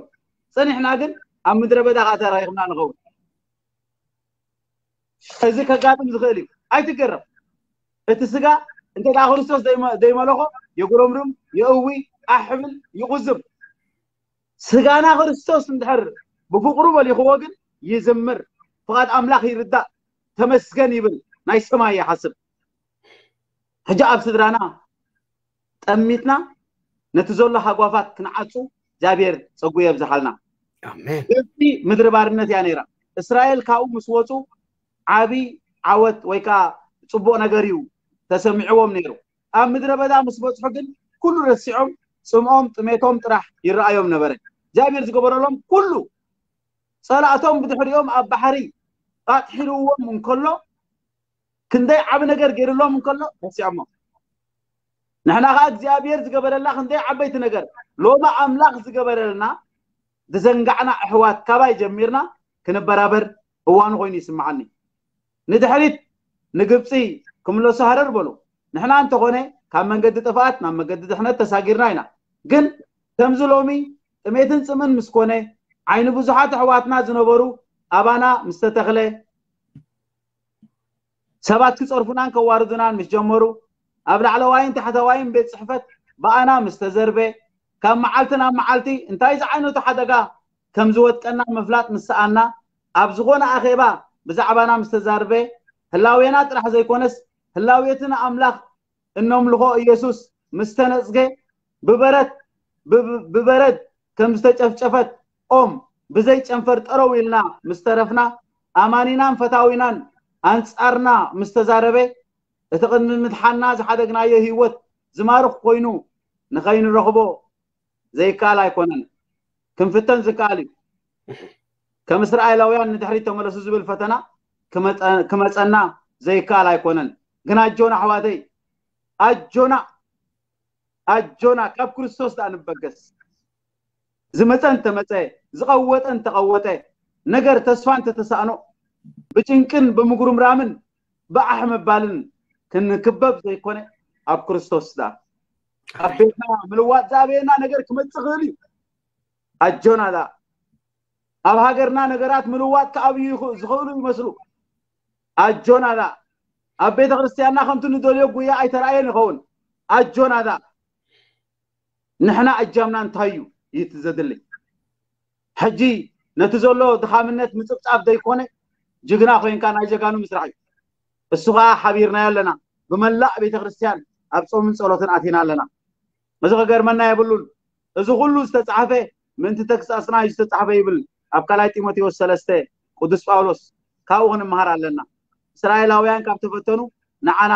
ፀኒሕና ግን ኣብ ምድረ በዳ ከዓ ተራኺብና ንኸውን። እዚ ከጋጥም ዝኽእል እዩ። ኣይትገረም። እቲ ስጋ እንተ ደኣ ክርስቶስ ዘይመለኾ የጉረምርም፣ የእዊ፣ ኣሕብል፣ ይቑዝም። ስጋና ክርስቶስ እንድሕር ብፍቕሩ በሊኽዎ ግን ይዝምር፣ ፍቓድ ኣምላኽ ይርዳእ፣ ተመስገን ይብል፣ ናይ ሰማይ ይሓስብ። ሕጂ ኣብ ስድራና ጠሚትና ነቲ ዘሎ ሃጓፋት ክንዓጹ እግዚኣብሔር ጸጉ የብዝሓልና። ኣሜን። ግብፂ ምድሪ ባርነት እያ ነይራ። እስራኤል ካብኡ ምስ ወፁ ዓብይ ዓወት ወይ ከዓ ፅቡቅ ነገር እዩ ተሰሚዕዎም ነይሩ። ኣብ ምድረ በዳ ምስ በፅሑ ግን ኩሉ ረሲዖም ፅምኦም ጥሜቶም ጥራሕ ይረኣዮም ነበረ። እግዚኣብሔር ዝገበረሎም ኩሉ ጸላእቶም ብድሕሪኦም ኣብ ባሕሪ ኣጥሒልዎም እንከሎ ክንደይ ዓቢ ነገር ገይርሎም እንከሎ ረሲዖሞ። ንሕና ከዓ እግዚኣብሔር ዝገበረላ ክንደይ ዓበይቲ ነገር ሎሚ ኣምላኽ ዝገበረልና ዝዘንጋዕና ኣሕዋት ካባይ ጀሚርና ክንበራበር እዋኑ ኮይኑ ይስምዓኒ። ንድሕሪት ንግብፂ ክምለሱ ሃረር በሉ። ንሕና እንተኾነ ካብ መንገዲ ጥፍኣት ናብ መንገዲ ድሕነት ተሳጊርና ኢና። ግን ከምዚ ሎሚ ጥሜትን ፅምን ምስ ኮነ ዓይኒ ብዙሓት ኣሕዋትና ዝነበሩ ኣባና ምስ ተተኽለ ሰባት ክፀርፉናን ከዋርዱናን ምስ ጀመሩ ኣብ ላዕለዋይን ታሕተዋይን ቤት ፅሕፈት ብኣና ምስ ተዘርበ ካብ መዓልቲ ናብ መዓልቲ እንታይ ዝዓይነቱ ሓደጋ ከም ዝወጥቀና ምፍላጥ ምስ ሰኣና ኣብ ዝኾነ ኣኼባ ብዛዕባና ምስ ተዛርበ ህላዌና ጥራሕ ዘይኮነስ ህላዌቲ ንኣምላኽ እነምልኾ ኢየሱስ ምስ ተነጽገ ብበረት ብበረድ ከም ዝተጨፍጨፈት ኦም ብዘይ ጨንፈር ጠረው ኢልና ምስ ተረፍና ኣማኒናን ፈታዊናን ኣንጻርና ምስ ተዛረበ እቲ ቅድሚ ምድሓና ዝሓደግናዮ ህይወት ዝማርኽ ኮይኑ ንኸይንረኽቦ ዘይከኣል ኣይኮነን። ክንፍተን ዝከኣል እዩ። ከም እስራኤላውያን ንድሕሪት ተመለሱ ዝብል ፈተና ክመፀና ዘይከኣል ኣይኮነን። ግን ኣጆና ኣሕዋተይ፣ ኣጆና ኣጆና ካብ ክርስቶስ ደኣ ንበገስ። ዝመፀ እንተመፀ፣ ዝቐወጠ እንተቐወጠ፣ ነገር ተስፋ እንተተሳእኖ፣ ብጭንቅን ብምጉርምራምን ብኣሕ ምባልን ክንክበብ ዘይኮነ ኣብ ክርስቶስ ደኣ ኣብ ቤትና ምልዋጥ ዝኣበየና ነገር ክመፅእ ክእል እዩ። ኣጆና ደኣ ኣብ ሃገርና ነገራት ምልዋጥ ክኣብዩ ዝኽእሉ ይመስሉ። ኣጆና ደኣ ኣብ ቤተ ክርስቲያንና ከምቲ ንደልዮ ጉያ ኣይተራእየን ይኸውን። ኣጆና ደኣ ንሕና እጃምና እንታይ እዩ? እዩ እቲ ዘድሊ። ሕጂ ነቲ ዘሎ ድኻምነት ምፅብፃብ ዘይኮነ ጅግና ኮይንካ ናይ ጀጋኑ ምስራሕ እዩ። እሱ ከዓ ሓቢርናዮ ኣለና። ብመላእ ቤተ ክርስቲያን ኣብ ፆምን ፀሎትን ኣቲና ኣለና። እዚ ክገርመና የብሉን። እዚ ኩሉ ዝተፃሕፈ ምእንቲ ተግሳፅና እዩ ዝተፃሕፈ ይብል ኣብ ካልኣይ ጢሞቴዎስ ሰለስተ ቅዱስ ጳውሎስ። ካብኡ ክንመሃር ኣለና። እስራኤላውያን ካብ ተፈተኑ ንዓና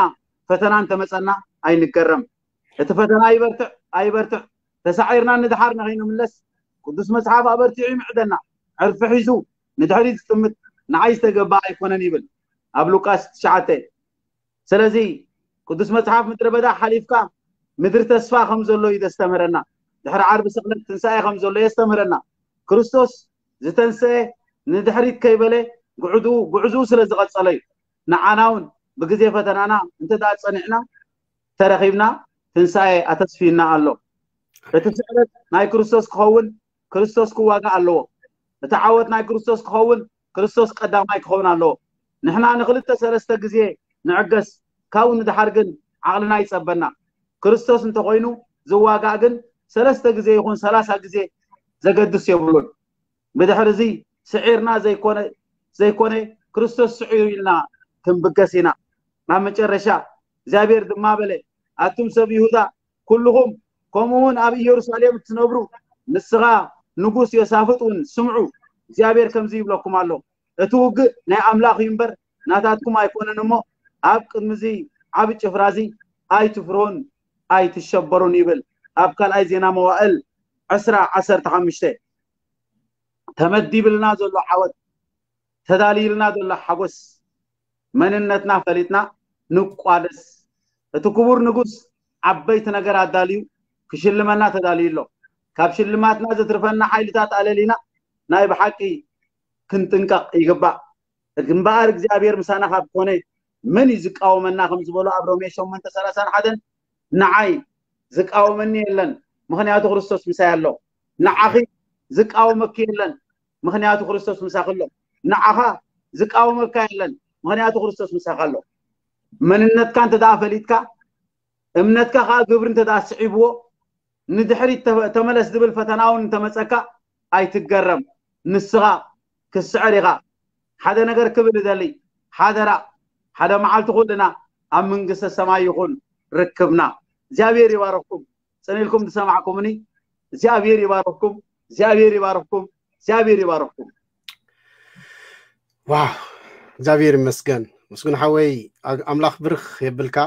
ፈተና እንተመፀና ኣይንገረም። እቲ ፈተና ይበርትዕ ኣይበርትዕ ተሳዒርና ንድሓር ንኸይንምለስ ቅዱስ መፅሓፍ ኣበርቲዑ ይምዕደና። ዕርፊ ሒዙ ንድሕሪት ዝጥምት ንዓይ ዝተገባ ኣይኮነን ይብል ኣብ ሉቃስ ትሽዓተ። ስለዚ ቅዱስ መጽሓፍ ምድረ በዳ ሓሊፍካ ምድሪ ተስፋ ከም ዘሎ እዩ ዘስተምህረና። ድሕሪ ዓርቢ ስቕለት ትንሳኤ ከም ዘሎ የስተምህረና። ክርስቶስ ዝተንሰኤ ንድሕሪት ከይበለ ጉዕዝኡ ጉዕዝኡ ስለ ዝቐጸለ እዩ። ንዓና እውን ብግዜ ፈተናና እንተ ደኣ ጸኒዕና ተረኺብና ትንሳኤ ኣተስፊና ኣሎ። እቲ ስዕረት ናይ ክርስቶስ ክኸውን ክርስቶስ ክዋጋእ ኣለዎ። እቲ ዓወት ናይ ክርስቶስ ክኸውን ክርስቶስ ቀዳማይ ክኸውን ኣለዎ። ንሕና ንክልተ ሰለስተ ግዜ ንዕገስ፣ ካብኡ ንድሓር ግን ዓቕልና ይጸበና። ክርስቶስ እንተኾይኑ ዝዋጋእ ግን ሰለስተ ግዜ ይኹን ሰላሳ ግዜ ዘገድስ የብሉን። ብድሕሪ እዚ ስዒርና ዘይኮነ ዘይኮነ ክርስቶስ ስዒሩ ኢልና ክንብገስ ኢና። ናብ መጨረሻ እግዚኣብሔር ድማ በለ፣ ኣቱም ሰብ ይሁዳ ኩልኹም፣ ከምኡ እውን ኣብ ኢየሩሳሌም እትነብሩ፣ ንስኻ ንጉስ ዮሳፍጥ እውን ስምዑ፣ እግዚኣብሔር ከምዚ ይብለኩም ኣሎ፣ እቲ ውግእ ናይ ኣምላኽ እዩ እምበር ናታትኩም ኣይኮነን እሞ፣ ኣብ ቅድሚ እዚ ዓቢ ጭፍራ እዚ ኣይትፍርሁን ኣይትሸበሩን ይብል። ኣብ ካልኣይ ዜና መዋእል ዕስራ ዓሰርተ ሓሙሽተ። ተመዲብልና ዘሎ ዓወት፣ ተዳልይልና ዘሎ ሓጎስ፣ መንነትና ፈሊጥና ንቋደስ። እቲ ክቡር ንጉስ ዓበይቲ ነገር ኣዳልዩ ክሽልመና ተዳልዩ ኣሎ። ካብ ሽልማትና ዘትርፈና ሓይልታት ኣለሊና ናይ ብሓቂ ክንጥንቀቕ ይግባእ። እምበኣር እግዚኣብሔር ምሳና ካብ ኮነ መን እዩ ዝቃወመና? ከም ዝበሎ ኣብ ሮሜ ሸሞንተ ሰላሳን ሓደን፣ ንዓይ ዝቃወመኒ የለን፣ ምኽንያቱ ክርስቶስ ምሳይ ኣሎ። ንዓኺ ዝቃወመኪ የለን፣ ምኽንያቱ ክርስቶስ ምሳኺ ኣሎ። ንዓኻ ዝቃወመካ የለን፣ ምኽንያቱ ክርስቶስ ምሳኻ ኣሎ። መንነትካ እንተ ደኣ ፈሊጥካ፣ እምነትካ ከኣ ግብሪ እንተ ደኣ ስዒብዎ፣ ንድሕሪት ተ- ተመለስ ዝብል ፈተና እውን እንተመጸካ ኣይትገረም። ንስኻ ክትስዕር ኢኻ። ሓደ ነገር ክብል እደሊ፣ ሓደራ፣ ሓደ መዓልቲ ኩልና ኣብ መንግስተ ሰማይ ይኹን ርክብና። እግዚኣብሔር ይባረኽኩም። ጽን ኢልኩም ዝሰማዕኩምኒ እግዚኣብሔር ይባረኽኩም። እግዚኣብሔር ይባረኽኩም። እግዚኣብሔር ይባረኽኩም። ዋው፣ እግዚኣብሔር ይመስገን። ምስጉን ሓወይ፣ ኣ- ኣምላኽ ብርኽ የብልካ።